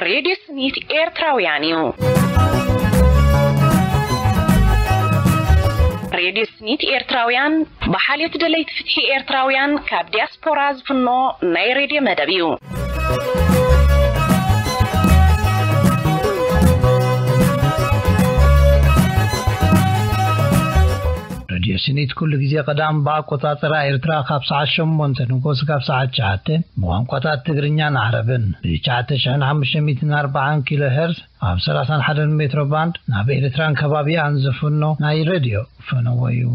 ሬድዮ ስኒት ኤርትራውያን እዩ። ሬድዮ ስኒት ኤርትራውያን ብሓልዮት ደለይቲ ፍትሒ ኤርትራውያን ካብ ዲያስፖራ ዝፍኖ ናይ ሬድዮ መደብ እዩ። ሬድዮ ስኒት ኩሉ ግዜ ቀዳም ብኣቆጻጽራ ኤርትራ ካብ ሰዓት ሸሞንተ ንጎስ ካብ ሰዓት ትሽዓተ ብቋንቋታት ትግርኛን ዓረብን ብ9,540 ኪሎ ሄርዝ ኣብ 31 ሜትሮ ባንድ ናብ ኤርትራን ከባቢኣን ዝፍኖ ናይ ሬድዮ ፈነወ እዩ።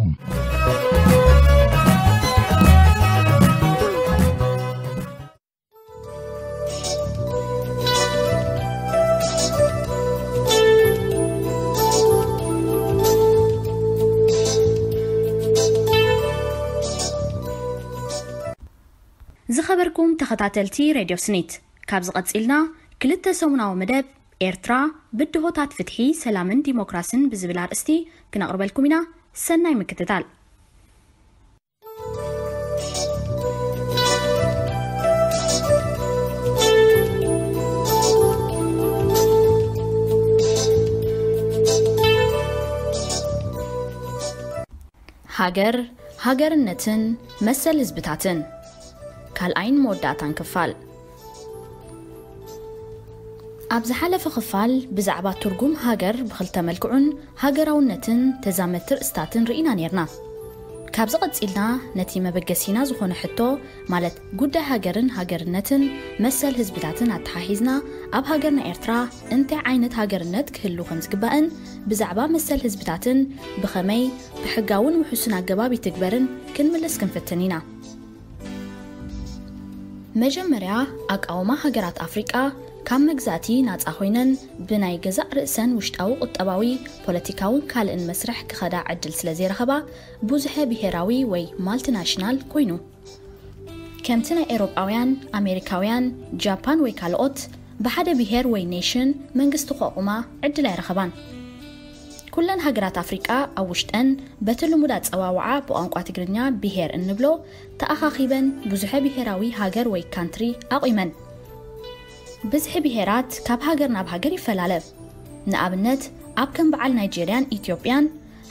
ዝኸበርኩም ተኸታተልቲ ሬድዮ ስኒት፣ ካብዚ ቀጺልና ክልተ ሰሙናዊ መደብ ኤርትራ ብድሆታት ፍትሒ፣ ሰላምን ዲሞክራስን ብዝብል ኣርእስቲ ክነቕርበልኩም ኢና። ሰናይ ምክትታል። ሃገር፣ ሃገርነትን መሰል ህዝብታትን። ካልኣይን መወዳእታን ክፋል። ኣብ ዝሓለፈ ክፋል ብዛዕባ ትርጉም ሃገር ብኽልተ መልክዑን ሃገራውነትን ተዛመድቲ ርእስታትን ርኢና ኔርና። ካብዚ ቀጺልና ነቲ መበገሲና ዝኾነ ሕቶ፣ ማለት ጉዳይ ሃገርን ሃገርነትን መሰል ህዝብታትን ኣተሓሒዝና፣ ኣብ ሃገርና ኤርትራ እንታይ ዓይነት ሃገርነት ክህሉ ከም ዝግባእን ብዛዕባ መሰል ህዝብታትን ብኸመይ ብሕጋውን ውሑስን ኣገባብ ይትግበርን ክንምልስ ክንፍትን ኢና። መጀመርያ፣ ኣቃውማ ሃገራት ኣፍሪቃ ካብ መግዛእቲ ናጻ ኮይነን ብናይ ገዛእ ርእሰን ውሽጣዊ ቁጠባዊ፣ ፖለቲካውን ካልእን መስርሕ ክኸዳ ዕድል ስለ ዘይረኸባ፣ ብዙሐ ብሄራዊ ወይ ማልቲናሽናል ኮይኑ። ከምቲ ናይ ኤውሮጳውያን፣ ኣሜሪካውያን፣ ጃፓን ወይ ካልኦት፣ ብሓደ ብሄር ወይ ኔሽን መንግስቲ ከቑማ ዕድል ኣይረኸባን። ኩለን ሃገራት ኣፍሪቃ ኣብ ውሽጠን በቲ ልሙድ ኣጸዋውዓ ብቋንቋ ትግርኛ ብሄር እንብሎ ተኣኻኺበን ብዙሐ ብሄራዊ ሃገር ወይ ካንትሪ ኣቑመን። ብዝሒ ብሄራት ካብ ሃገር ናብ ሃገር ይፈላለ። ንኣብነት፣ ኣብ ከም በዓል ናይጄርያን ኢትዮጵያን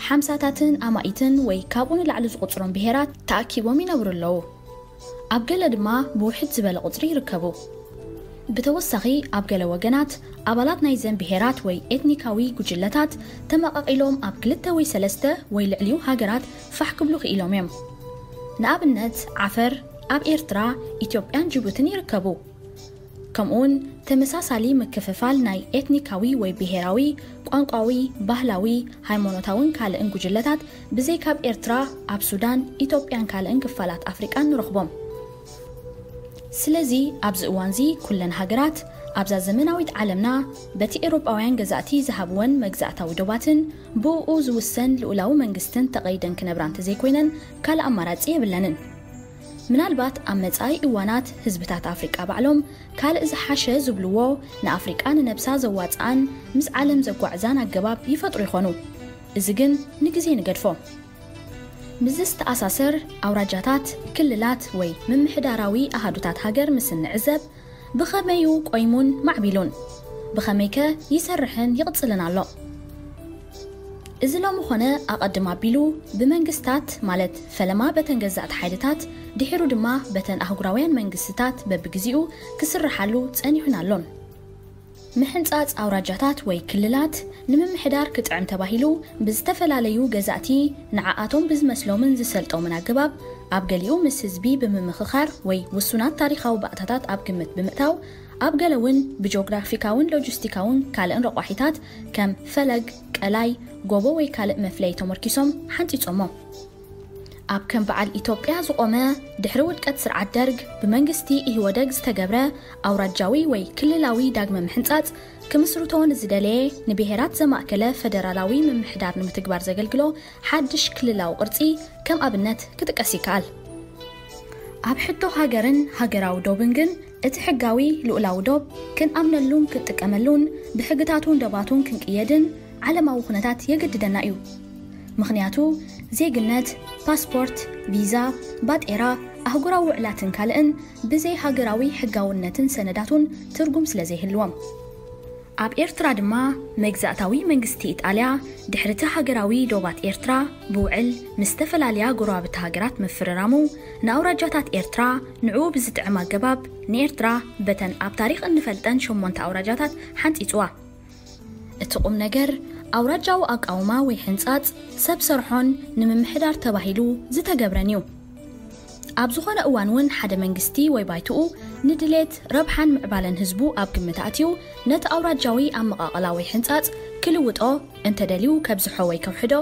ሓምሳታትን ኣማኢትን ወይ ካብኡ ንላዕሊ ዝቑጽሮም ብሄራት ተኣኪቦም ይነብሩ ኣለዉ። ኣብ ገለ ድማ ብውሕድ ዝበለ ቁጽሪ ይርከቡ። ብተወሳኺ፣ ኣብ ገለ ወገናት፣ ኣባላት ናይዘን ብሄራት ወይ ኤትኒካዊ ጉጅለታት ተመቓቒሎም ኣብ ክልተ ወይ ሰለስተ ወይ ልዕሊኡ ሃገራት ፋሕ ክብሉ ክኢሎም እዮም። ንኣብነት፣ ዓፈር ኣብ ኤርትራ፣ ኢትዮጵያን ጅቡትን ይርከቡ። ከምኡውን ተመሳሳሊ ምክፍፋል ናይ ኤትኒካዊ ወይ ብሄራዊ፣ ቋንቋዊ፣ ባህላዊ፣ ሃይማኖታውን ካልእን ጉጅለታት ብዘይ ካብ ኤርትራ ኣብ ሱዳን፣ ኢትዮጵያን ካልእን ክፋላት ኣፍሪቃን ንረኽቦም። ስለዚ ኣብዚ እዋንዚ ኩለን ሃገራት ኣብዛ ዘመናዊት ዓለምና በቲ ኤውሮጳውያን ገዛእቲ ዝሃብወን መግዛእታዊ ዶባትን ብእኡ ዝውሰን ልኡላዊ መንግስትን ተቐይደን ክነብራ እንተዘይኮይነን ካልእ ኣማራጺ የብለንን። ምናልባት ኣብ መጻኢ እዋናት ህዝብታት ኣፍሪቃ ባዕሎም ካልእ ዝሓሸ ዝብልዎ ንኣፍሪቃ ንነብሳ ዘዋጽኣን ምስ ዓለም ዘጓዕዛን ኣገባብ ይፈጥሩ ይኾኑ። እዚ ግን ንግዜ ንገድፎ። ምስዚ ዝተኣሳሰር ኣውራጃታት፣ ክልላት ወይ ምምሕዳራዊ ኣሃዱታት ሃገር ምስ እንዕዘብ ብኸመዩ ቆይሙን ማዕቢሉን? ብኸመይከ ይሰርሕን ይቕጽልን ኣሎ? እዚ ሎሚ ኾነ ኣቐድም ኣቢሉ ብመንግስታት፣ ማለት ፈለማ በተን ገዛእቲ ሓይልታት፣ ድሒሩ ድማ በተን ኣህጉራውያን መንግስትታት በብግዜኡ ክስርሓሉ ጸኒሑን ኣሎን። ምሕንጻጽ ኣውራጃታት ወይ ክልላት ንምምሕዳር ክጥዕም ተባሂሉ ብዝተፈላለዩ ገዛእቲ ንዓኣቶም ብዝመስሎምን ዝሰልጦምን ኣገባብ ኣብ ገሊኡ ምስ ህዝቢ ብምምኽኻር ወይ ውሱናት ታሪኻዊ ባእታታት ኣብ ግምት ብምእታው ኣብ ገለ እውን ብጂኦግራፊካውን ሎጂስቲካውን ካልእን ረቋሒታት ከም ፈለግ፣ ቀላይ፣ ጎቦ ወይ ካልእ መፍለዪ ተመርኪሶም ሓንጺጾሞ። ኣብ ከም በዓል ኢትዮጵያ ዝቖመ ድሕሪ ውድቀት ስርዓት ደርግ ብመንግስቲ ኢህወደግ ዝተገብረ ኣውራጃዊ ወይ ክልላዊ ዳግመ ምሕንጻጽ ክምስርቶ ንዝደለየ ንብሄራት ዘማእከለ ፈደራላዊ ምምሕዳር ንምትግባር ዘገልግሎ ሓድሽ ክልላዊ ቅርጺ ከም ኣብነት ክጥቀስ ይከኣል። ኣብ ሕቶ ሃገርን ሃገራዊ ዶብን ግን እቲ ሕጋዊ ልኡላዊ ዶብ ክንኣምነሉን ክንጥቀመሉን ብሕግታቱን ደባቱን ክንቅየድን ዓለማዊ ኩነታት የገድደና እዩ። ምኽንያቱ ዜግነት፣ ፓስፖርት፣ ቪዛ፣ ባጤራ፣ ኣህጉራዊ ውዕላትን ካልእን ብዘይ ሃገራዊ ሕጋውነትን ሰነዳቱን ትርጉም ስለ ዘይህልዎም። ኣብ ኤርትራ ድማ መግዛእታዊ መንግስቲ ኢጣልያ ድሕሪቲ ሃገራዊ ዶባት ኤርትራ ብውዕል ምስ ዝተፈላለያ ጎረባብቲ ሃገራት ምፍርራሙ፣ ንኣውራጃታት ኤርትራ ንዕኡ ብዝጥዕም ኣገባብ ንኤርትራ በተን ኣብ ታሪኽ እንፈልጠን ሸሞንተ ኣውራጃታት ሓንጺጽዋ። እቲ ቁም ነገር ኣውራጃዊ ኣቃውማ ወይ ሕንጻጽ ሰብ ሰርሖን ንምምሕዳር ተባሂሉ ዝተገብረን እዩ። ኣብ ዝኾነ እዋን እውን ሓደ መንግስቲ ወይ ባይትኡ ንድሌት ረብሓን ምዕባለን ህዝቡ ኣብ ግምት ኣትዩ ነቲ ኣውራጃዊ ኣመቓቕላ ወይ ሕንጻጽ ክልውጦ እንተደልዩ ከብዝሖ ወይ ከውሕዶ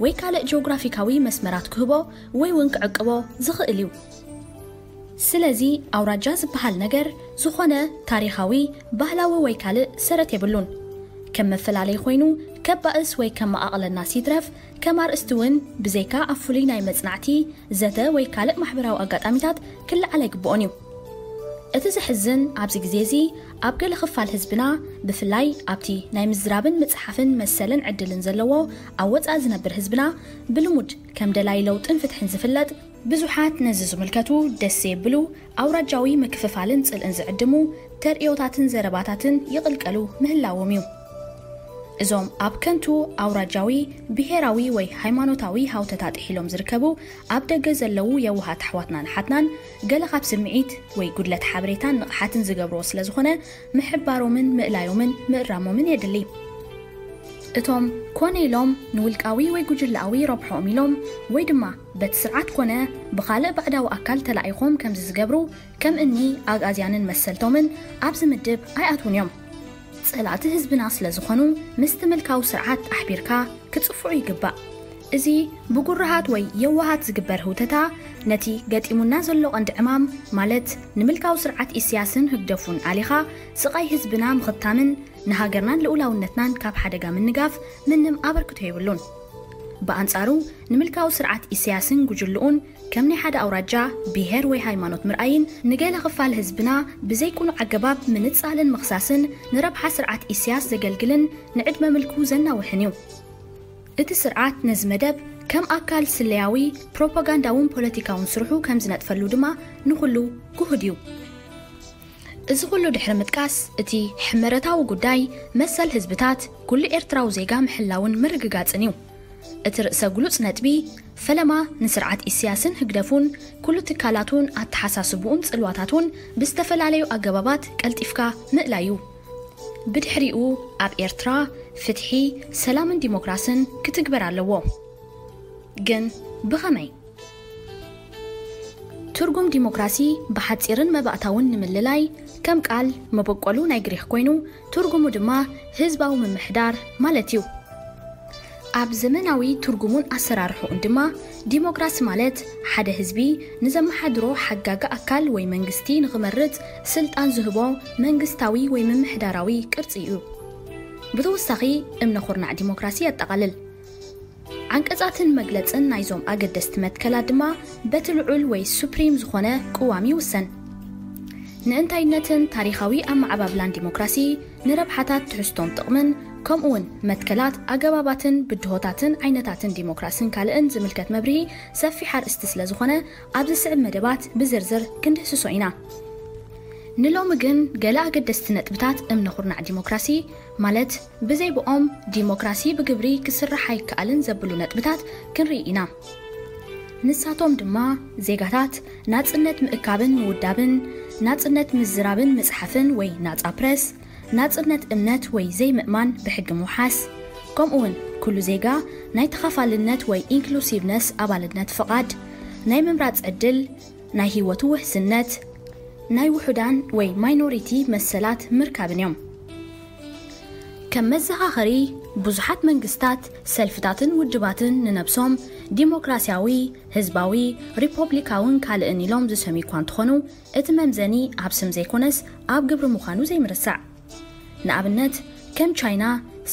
ወይ ካልእ ጂኦግራፊካዊ መስመራት ክህቦ ወይ እውን ክዕቅቦ ዝኽእል እዩ። ስለዚ ኣውራጃ ዝበሃል ነገር ዝኾነ ታሪኻዊ፣ ባህላዊ ወይ ካልእ ሰረት የብሉን። ከም መፈላለይ ኮይኑ ከባእስ ወይ ከመቓቕለናስ ይትረፍ ከም ኣርእስቲ እውን ብዘይካ ኣብ ፍሉይ ናይ መጽናዕቲ፣ ዘተ ወይ ካልእ ማሕበራዊ ኣጋጣሚታት ክለዓል ኣይግብኦን እዩ። እቲ ዘሕዝን ኣብዚ ግዜ እዚ ኣብ ገለ ክፋል ህዝብና ብፍላይ ኣብቲ ናይ ምዝራብን ምጽሓፍን መሰልን ዕድልን ዘለዎ ኣብ ወጻኢ ዝነብር ህዝብና ብልሙድ ከም ደላይ ለውጥን ፍትሕን ዝፍለጥ ብዙሓት ነዚ ዝምልከቱ ደስ ዘየብሉ ኣውራጃዊ ምክፍፋልን ጽልእን ዝዕድሙ ተርእዮታትን ዘረባታትን ይቕልቀሉ ምህላዎም እዩ። እዞም ኣብ ከንቱ ኣውራጃዊ፣ ብሄራዊ ወይ ሃይማኖታዊ ሃውተታ ጥሒሎም ዝርከቡ ኣብ ደገ ዘለዉ የዋሃት ኣሕዋትናን ኣሓትናን ገለ ካብ ስምዒት ወይ ጉድለት ሓበሬታን ንቕሓትን ዝገብርዎ ስለ ዝኾነ ምሕባሮምን ምእላዮምን ምእራሞምን የድሊ። እቶም ኮነ ኢሎም ንውልቃዊ ወይ ጉጅለኣዊ ረብሖኦም ኢሎም ወይ ድማ በቲ ስርዓት ኮነ ብኻልእ ባዕዳዊ ኣካል ተላኢኾም ከምዚ ዝገብሩ ከም እኒ ኣግኣዝያንን መሰልቶምን ኣብዚ ምድብ ኣይኣትዉን እዮም። ጸላእቲ ህዝብና ስለ ዝኾኑ ምስቲ ምልካዊ ስርዓት ኣሕቢርካ ክጽፍዑ ይግባእ። እዚ ብጉርሃት ወይ የዋሃት ዝግበር ህውተታ ነቲ ገጢሙና ዘሎ ቀንዲ ዕማም ማለት ንምልካዊ ስርዓት ኢሳያስን ህግደፉን ኣሊኻ ስቓይ ህዝብና ምኽታምን ንሃገርናን ልኡላውነትናን ካብ ሓደጋ ምንጋፍ ምንም ኣበርክቶ የብሉን። ብኣንጻሩ ንምልካዊ ስርዓት ኢሳያስን ጉጅልኡን ከም ናይ ሓደ ኣውራጃ፣ ብሄር ወይ ሃይማኖት ምርኣይን ንገለ ክፋል ህዝብና ብዘይቅኑዕ ኣገባብ ምንጻልን ምኽሳስን ንረብሓ ስርዓት ኢሳያስ ዘገልግልን ንዕድመ ምልኩ ዘናውሕን እዩ። እቲ ስርዓት ነዚ መደብ ከም ኣካል ስለያዊ፣ ፕሮፓጋንዳውን ፖለቲካውን ስርሑ ከም ዝነጥፈሉ ድማ ንኹሉ ግሁድ እዩ። እዚ ኩሉ ድሕሪ ምጥቃስ፣ እቲ ሕመረታዊ ጉዳይ መሰል ህዝብታት ኩሉ ኤርትራዊ ዜጋ ምሕላውን ምርግጋጽን እዩ። እቲ ርእሰ ግሉጽ ነጥቢ፣ ፈለማ ንስርዓት ኢሳያስን ህግደፉን ኩሉ ትካላቱን ኣተሓሳስብኡን ጽልዋታቱን ብዝተፈላለዩ ኣገባባት ቀልጢፍካ ምእላዩ። ብድሕሪኡ ኣብ ኤርትራ ፍትሒ፣ ሰላምን ዲሞክራስን ክትግበር ኣለዎ። ግን ብኸመይ? ትርጉም ዲሞክራሲ ብሓጺርን መባእታውን ንምልላይ፣ ከም ቃል መበቆሉ ናይ ግሪኽ ኮይኑ፣ ትርጉሙ ድማ ህዝባዊ ምምሕዳር ማለት እዩ። ኣብ ዘመናዊ ትርጉሙን ኣሰራርሕኡን ድማ፣ ዲሞክራሲ ማለት ሓደ ህዝቢ ንዘመሓድሮ ሓጋጊ ኣካል ወይ መንግስቲ ንኽመርጽ ስልጣን ዝህቦ መንግስታዊ ወይ ምምሕዳራዊ ቅርጺ እዩ። ብተወሳኺ፣ እምነ ኩርናዕ ዲሞክራሲ የጠቓልል። ዓንቀጻትን መግለጽን ናይዞም ኣገደስቲ መትከላት ድማ በቲ ልዑል ወይ ሱፕሪም ዝኾነ ቅዋም ይውሰን። ንእንታይነትን ታሪኻዊ ኣመዓባብላን ዲሞክራሲ፣ ንረብሓታት ትሕዝቶን ጥቕምን፣ ከምኡውን መትከላት፣ ኣገባባትን ብድሆታትን ዓይነታትን ዲሞክራስን ካልእን ዝምልከት መብርሂ ሰፊሕ ኣርእስቲ ስለ ዝኾነ፣ ኣብ ዝስዕብ መደባት ብዝርዝር ክንድህስሶ ኢና። ንሎሚ ግን ገለ ኣገደስቲ ነጥብታት እምነ ኩርናዕ ዲሞክራሲ፣ ማለት ብዘይ ብኦም ዲሞክራሲ ብግብሪ ክስራሕ ኣይከኣልን ዘብሉ ነጥብታት ክንርኢ ኢና። ንሳቶም ድማ ዜጋታት ናጽነት ምእካብን ምውዳብን፣ ናጽነት ምዝራብን ምጽሓፍን ወይ ናጻ ፕረስ፣ ናጽነት እምነት ወይ ዘይምእማን ብሕጊ ምውሓስ፣ ከምኡውን ኩሉ ዜጋ ናይ ተኻፋልነት ወይ ኢንክሉሲቭነስ ኣባልነት ፍቓድ፣ ናይ ምምራጽ ዕድል፣ ናይ ህይወቱ ውሕስነት፣ ናይ ውሑዳን ወይ ማይኖሪቲ መሰላት ምርካብን እዮም። ከም መዘኻኸሪ፣ ብዙሓት መንግስታት፣ ሰልፍታትን ውድባትን ንነብሶም ዲሞክራሲያዊ፣ ህዝባዊ፣ ሪፖብሊካውን ካልእን ኢሎም ዝሰምዩ እኳ እንተኾኑ፣ እቲ መምዘኒ ኣብ ስም ዘይኮነስ ኣብ ግብሪ ምዃኑ ዘይምርሳዕ። ንኣብነት፣ ከም ቻይና፣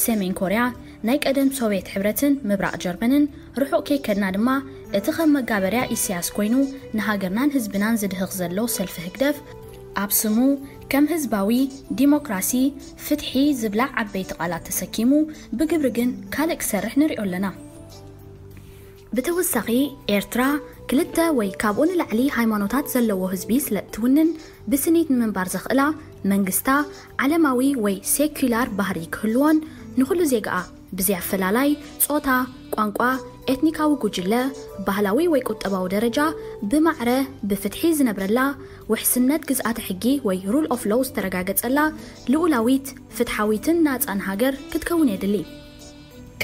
ሰሜን ኮርያ፣ ናይ ቀደም ሶቭየት ሕብረትን ምብራቕ ጀርመንን፣ ርሑቕ ከይከድና ድማ እቲ ከም መጋበርያ ኢሳያስ ኮይኑ ንሃገርናን ህዝብናን ዝድህኽ ዘሎ ሰልፊ ህግደፍ፣ ኣብ ስሙ ከም ህዝባዊ ዲሞክራሲ፣ ፍትሒ ዝብላ ዓበይቲ ቃላት ተሰኪሙ፣ ብግብሪ ግን ካልእ ክሰርሕ ንሪኦ ኣለና። ብተወሳኺ፣ ኤርትራ ክልተ ወይ ካብኡ ንላዕሊ ሃይማኖታት ዘለዎ ህዝቢ ስለ እትውንን፣ ብስኒት ንምንባር ዘኽእላ መንግስታ ዓለማዊ ወይ ሴኩላር ባህሪ ክህልዎን፣ ንኹሉ ዜጋኣ ብዘይ ኣፈላላይ ጾታ፣ ቋንቋ፣ ኤትኒካዊ ጉጅለ፣ ባህላዊ ወይ ቁጠባዊ ደረጃ ብማዕረ ብፍትሒ ዝነብረላ፣ ውሕስነት ግዝኣተ ሕጊ ወይ ሩል ኦፍ ሎው ዝተረጋገጸላ ልኡላዊት፣ ፍትሓዊትን ናጻን ሃገር ክትከውን የድሊ።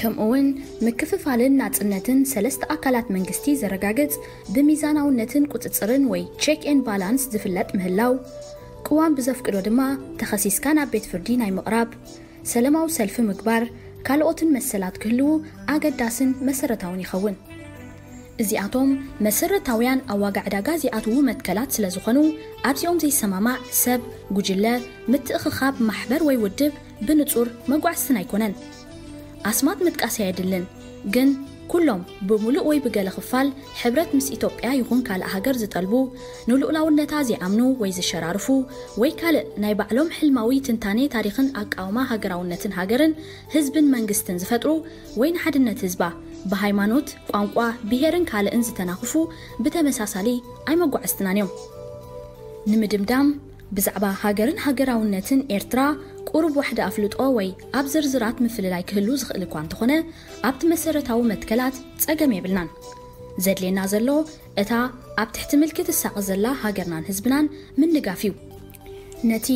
ከምኡውን ምክፍፋልን ናጽነትን ሰለስተ ኣካላት መንግስቲ ዘረጋግጽ፣ ብሚዛናውነትን ቁጽጽርን ወይ ቼክ ኤን ባላንስ ዝፍለጥ ምህላው፣ ቅዋም ብዘፍቅዶ ድማ ተኸሲስካ ናብ ቤት ፍርዲ ናይ ምቕራብ፣ ሰለማዊ ሰልፊ ምግባር፣ ካልኦትን መሰላት ክህልዉ ኣገዳስን መሰረታውን ይኸውን። እዚኣቶም መሰረታውያን ኣብ ዋጋ ዕዳጋ ዚኣትዉ መትከላት ስለ ዝኾኑ፣ ኣብዚኦም ዘይሰማማዕ ሰብ፣ ጉጅለ፣ ምትእኽኻብ ማሕበር ወይ ውድብ ብንጹር መጓዕዝትን ኣይኮነን። ኣስማት ምጥቃስ ኣየድልን፣ ግን ኩሎም ብምሉእ ወይ ብገለ ክፋል ሕብረት ምስ ኢትዮጵያ ይኹን ካልእ ሃገር ዝጠልቡ፣ ንልኡላውነታ ዘይኣምኑ ወይ ዝሸራርፉ፣ ወይ ካልእ ናይ ባዕሎም ሕልማዊ ትንታኔ ታሪኽን ኣቃውማ ሃገራውነትን ሃገርን ህዝብን መንግስትን ዝፈጥሩ፣ ወይ ንሓድነት ህዝባ ብሃይማኖት፣ ቋንቋ፣ ብሄርን ካልእን ዝተናኽፉ ብተመሳሳሊ ኣይመጓዕዝትናን እዮም። ንምድምዳም፣ ብዛዕባ ሃገርን ሃገራውነትን ኤርትራ ቁሩብ ዋሕዲ ኣፍልጦ ወይ ኣብ ዝርዝራት ምፍልላይ ክህሉ ዝኽእል እኳ እንተኾነ፣ ኣብቲ መሰረታዊ መትከላት ጸገም የብልናን። ዘድልየና ዘሎ እታ ኣብ ትሕቲ ምልኪ ትሳቐ ዘላ ሃገርናን ህዝብናን ምንጋፍ እዩ። ነቲ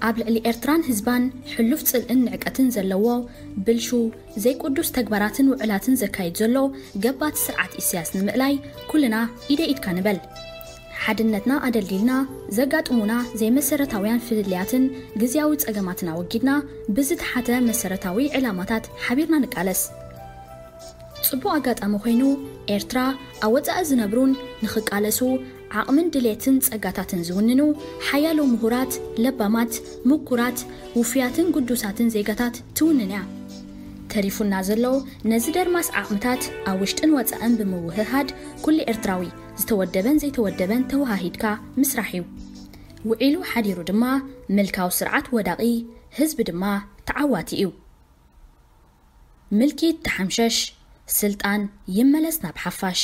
ኣብ ልዕሊ ኤርትራን ህዝባን ሕሉፍ ጽልእን ንዕቀትን ዘለዎ ብልሹ፣ ዘይቅዱስ ተግባራትን ውዕላትን ዘካይድ ዘሎ ገባቲ ስርዓት ኢሳያስ ንምእላይ ኩልና ኢደ ኢድካ ንበል። ሓድነትና ኣደልዲልና ዘጋጥሙና ዘይመሰረታውያን ፍልልያትን ግዝያዊ ጸገማትን ኣወጊድና ብዝተሓተ መሰረታዊ ዕላማታት ሓቢርና ንቃለስ። ጽቡቕ ኣጋጣሚ ኮይኑ ኤርትራ ኣብ ወጻኢ ዝነብሩን ንኽቃለሱ ዓቕምን ድሌትን ጸጋታትን ዝውንኑ ሓያሎ ምሁራት፣ ለባማት፣ ምኩራት፣ ውፉያትን ግዱሳትን ዜጋታት ትውንን እያ። ተሪፉና ዘሎ ነዚ ደርማስ ዓቕምታት ኣብ ውሽጥን ወጻእን ብምውህሃድ ኩሉ ኤርትራዊ ዝተወደበን ዘይተወደበን ተወሃሂድካ ምስራሕ እዩ። ውዒሉ ሓዲሩ ድማ ምልካዊ ስርዓት ወዳቒ፣ ህዝቢ ድማ ተዓዋቲ እዩ። ምልኪ ተሓምሸሽ፣ ስልጣን ይመለስ ናብ ሓፋሽ።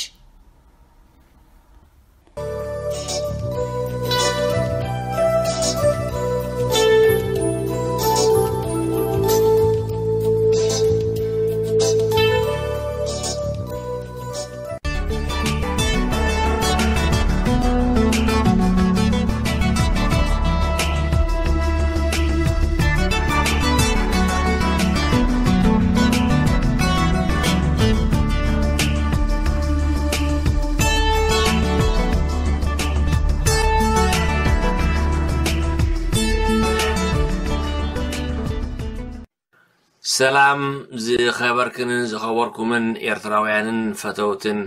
ሰላም ዝኸበርክንን ዝኸበርኩምን ኤርትራውያንን ፈተውትን፣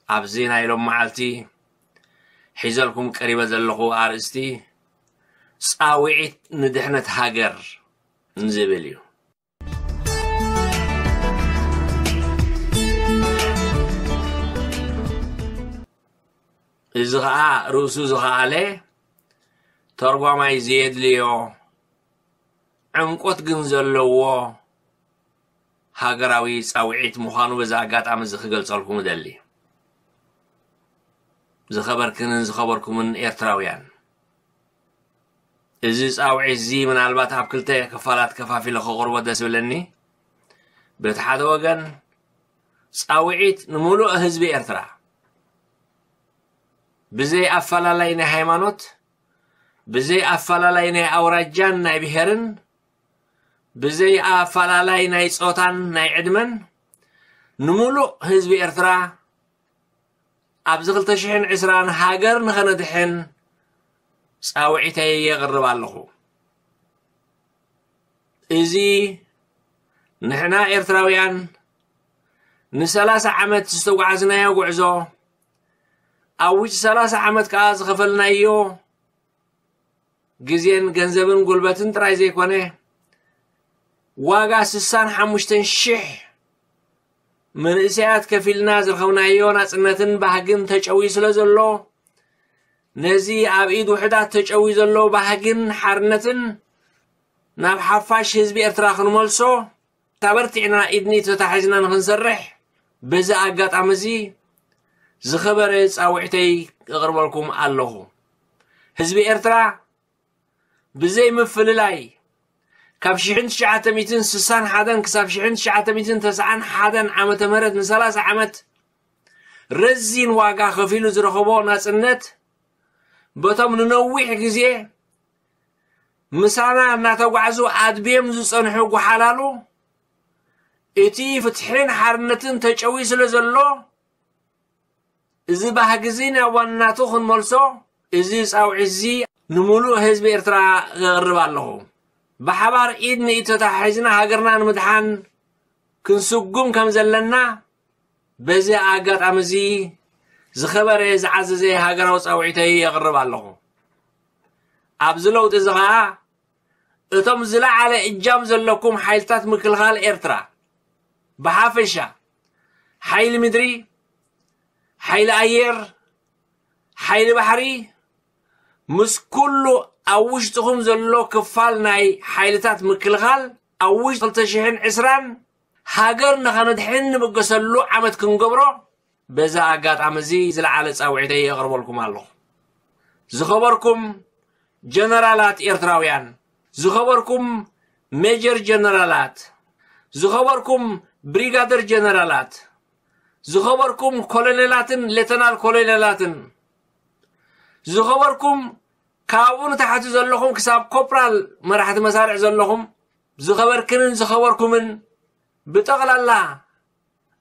ኣብዚ ናይ ሎም መዓልቲ ሒዘልኩም ቀሪበ ዘለኹ ኣርእስቲ ጻውዒት ንድሕነት ሃገር ዝብል እዩ። እዚ ኸኣ ርእሱ ዝኸኣለ ተርጓማይ ዘየድልዮ ዕምቆት ግን ዘለዎ ሃገራዊ ጻውዒት ምዃኑ በዚ ኣጋጣሚ እዚ ክገልጸልኩም እደሊ። ዝኸበርክንን ዝኸበርኩምን ኤርትራውያን፣ እዚ ጻውዒት እዚ ምናልባት ኣብ ክልተ ክፋላት ከፋፊለ ከቕርቦ ደስ ዝብለኒ። በቲ ሓደ ወገን ጻውዒት ንምሉእ ህዝቢ ኤርትራ፣ ብዘይ ኣፈላላይ ናይ ሃይማኖት፣ ብዘይ ኣፈላላይ ናይ ኣውራጃን ናይ ብሄርን፣ ብዘይ ኣፈላላይ ናይ ጾታን ናይ ዕድመን፣ ንምሉእ ህዝቢ ኤርትራ ኣብዚ ክልተ ሽሕን ዕስራን ሃገር ንኸነድሕን ጻውዒተይ የቕርብ ኣለኹ። እዚ ንሕና ኤርትራውያን ንሰላሳ ዓመት ዝተጓዕዝናዮ ጉዕዞ፣ ኣብ ውሽጢ ሰላሳ ዓመት ከኣ ዝኸፈልናዮ ግዜን ገንዘብን ጉልበትን ጥራይ ዘይኮነ፣ ዋጋ ስሳን ሓሙሽተን ሽሕ መንእሰያት ከፊልና ዝረኸብናዮ ናጽነትን ባህግን ተጨውዩ ስለ ዘሎ፣ ነዚ ኣብ ኢድ ውሑዳት ተጨውዩ ዘሎ ባህግን ሓርነትን ናብ ሓፋሽ ህዝቢ ኤርትራ ክንመልሶ፣ ተበርቲዕና ኢድኒት ተታሒዝና ንኽንሰርሕ፣ በዚ ኣጋጣሚ እዚ ዝኸበረ ጻውዒተይ እቕርበልኩም ኣለኹ። ህዝቢ ኤርትራ ብዘይ ምፍልላይ ካብ ሽሕን ትሽዓተ ሚእትን ስሳን ሓደን ክሳብ ሽሕን ትሽዓተ ሚእትን ተስዓን ሓደን ዓመተ ምህረት ንሰላሳ ዓመት ረዚን ዋጋ ከፊሉ ዝረኸቦ ናጽነት በቶም ንነዊሕ ግዜ ምሳና እናተጓዕዙ ኣድብዮም ዝጸንሑ ጓሓላሉ እቲ ፍትሕን ሓርነትን ተጨዊ ስለ ዘሎ እዚ ባህጊ እዚ ናብ ዋናቱ ክንመልሶ እዚ ጻውዒት እዚ ንምሉእ ህዝቢ ኤርትራ እቕርብ ኣለኹ። ብሓባር ኢድ ንኢድ ተተሓሒዝና ሃገርና ንምድሓን ክንስጉም ከም ዘለና በዚ ኣጋጣሚ እዚ ዝኸበረ ዝዓዘዘ ሃገራዊ ጻውዒተይ የቕርብ ኣለኹ። ኣብዚ ለውጢ እዚ ኸኣ እቶም ዝለዓለ እጃም ዘለኩም ሓይልታት ምክልኻል ኤርትራ ብሓፈሻ ሓይሊ ምድሪ፣ ሓይሊ ኣየር፣ ሓይሊ ባሕሪ ምስ ኩሉ ኣብ ውሽጥኹም ዘሎ ክፋል ናይ ሓይልታት ምክልኻል ኣብ ውሽጢ ክልተ ሽሕን ዕስራን ሃገር ንኸነድሕን ንብገሰሉ ዓመት ክንገብሮ በዛ ኣጋጣሚ እዚ ዝለዓለ ጻውዒተይ የቕርበልኩም ኣለኹ። ዝኸበርኩም ጀነራላት ኤርትራውያን፣ ዝኸበርኩም ሜጀር ጀነራላት፣ ዝኸበርኩም ብሪጋደር ጀነራላት፣ ዝኸበርኩም ኮሎኔላትን ሌተናል ኮሎኔላትን፣ ዝኸበርኩም ካብኡ ንታሕቲ ዘለኹም ክሳብ ኮፕራል መራሕቲ መሳርዕ ዘለኹም ዝኸበርክንን ዝኸበርኩምን ብጠቕላላ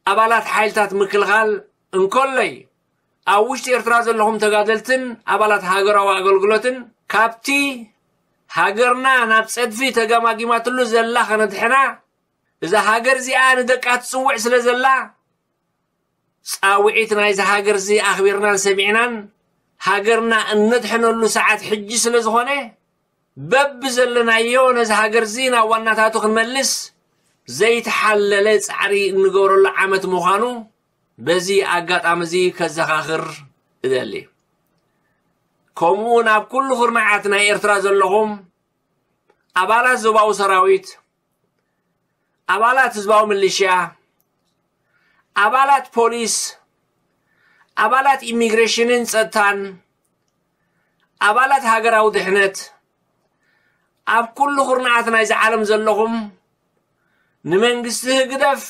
ኣባላት ሓይልታት ምክልኻል እንከሎይ ኣብ ውሽጢ ኤርትራ ዘለኹም ተጋደልትን ኣባላት ሃገራዊ ኣገልግሎትን ካብቲ ሃገርና ናብ ጸድፊ ተገማጊማትሉ ዘላ ከነድሕና እዛ ሃገር እዚኣ ንደቃ ትጽውዕ ስለ ዘላ ጻውዒት ናይዚ ሃገር እዚ ኣኽቢርናን ሰሚዕናን ሃገርና እነድሕነሉ ሰዓት ሕጂ ስለ ዝኾነ በብዘለናዮ ነዚ ሃገር እዚ ናብ ዋናታቱ ክንመልስ ዘይተሓለለ ጻዕሪ እንገብረሉ ዓመት ምዃኑ በዚ ኣጋጣሚ እዚ ከዘኻኽር እደሊ። ከምኡ እውን ኣብ ኩሉ ኩርናዓት ናይ ኤርትራ ዘለኹም ኣባላት ዞባዊ ሰራዊት፣ ኣባላት ህዝባዊ ምልሽያ፣ ኣባላት ፖሊስ፣ ኣባላት ኢሚግሬሽንን ጸጥታን፣ ኣባላት ሃገራዊ ድሕነት፣ ኣብ ኩሉ ኩርናዓት ናይዚ ዓለም ዘለኹም ንመንግስቲ ህግደፍ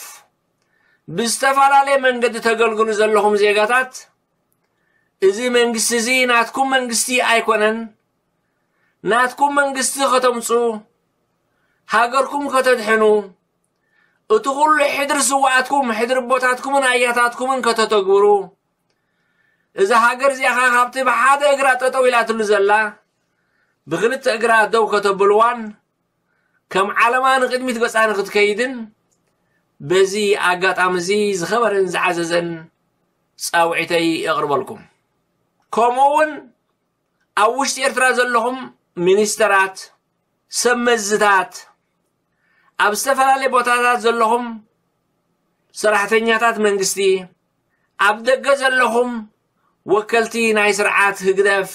ብዝተፈላለየ መንገዲ ተገልግሉ ዘለኹም ዜጋታት፣ እዚ መንግስቲ እዚ ናትኩም መንግስቲ ኣይኮነን። ናትኩም መንግስቲ ከተምጹ፣ ሃገርኩም ከተድሕኑ፣ እቲ ኩሉ ሕድሪ ስውኣትኩም፣ ሕድሪ ኣቦታትኩምን ኣያታትኩምን ከተተግብሩ፣ እዛ ሃገር እዚኣ ኸኣ ካብቲ ብሓደ እግራ ጠጠው ኢላትሉ ዘላ ብኽልተ እግራ ደው ከተብልዋን ከም ዓለማ ንቕድሚት ገጻ ንኽትከይድን በዚ ኣጋጣሚ እዚ ዝኸበረን ዝዓዘዘን ጻውዒተይ የቕርበልኩም። ከምኡ እውን ኣብ ውሽጢ ኤርትራ ዘለኹም ሚኒስተራት፣ ሰብ መዝታት፣ ኣብ ዝተፈላለየ ቦታታት ዘለኹም ሰራሕተኛታት መንግስቲ፣ ኣብ ደገ ዘለኹም ወከልቲ ናይ ስርዓት ህግደፍ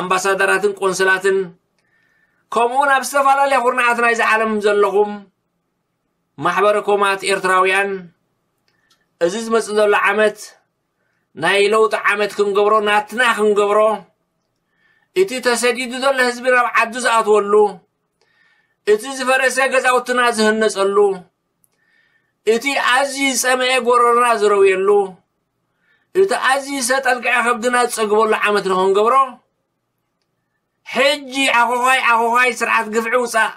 ኣምባሳደራትን ቆንስላትን፣ ከምኡውን ኣብ ዝተፈላለያ ኩርናዓት ናይዚ ዓለም ዘለኹም ማሕበረ ኮማት ኤርትራውያን፣ እዚ ዝመጽእ ዘሎ ዓመት ናይ ለውጢ ዓመት ክንገብሮ፣ ናትና ክንገብሮ፣ እቲ ተሰዲዱ ዘሎ ህዝቢ ናብ ዓዱ ዝኣትወሉ፣ እቲ ዝፈረሰ ገዛውትና ዝህነጸሉ፣ እቲ ኣዝዩ ዝጸመኤ ጎረሮና ዝረውየሉ፣ እቲ ኣዝዩ ዝሰጠልቀዐ ከብድና ዝጸግበሉ ዓመት ንኽንገብሮ፣ ሕጂ ዓኾዃይ ዓኾዃይ ስርዓት ግፍዒ ውጻእ፣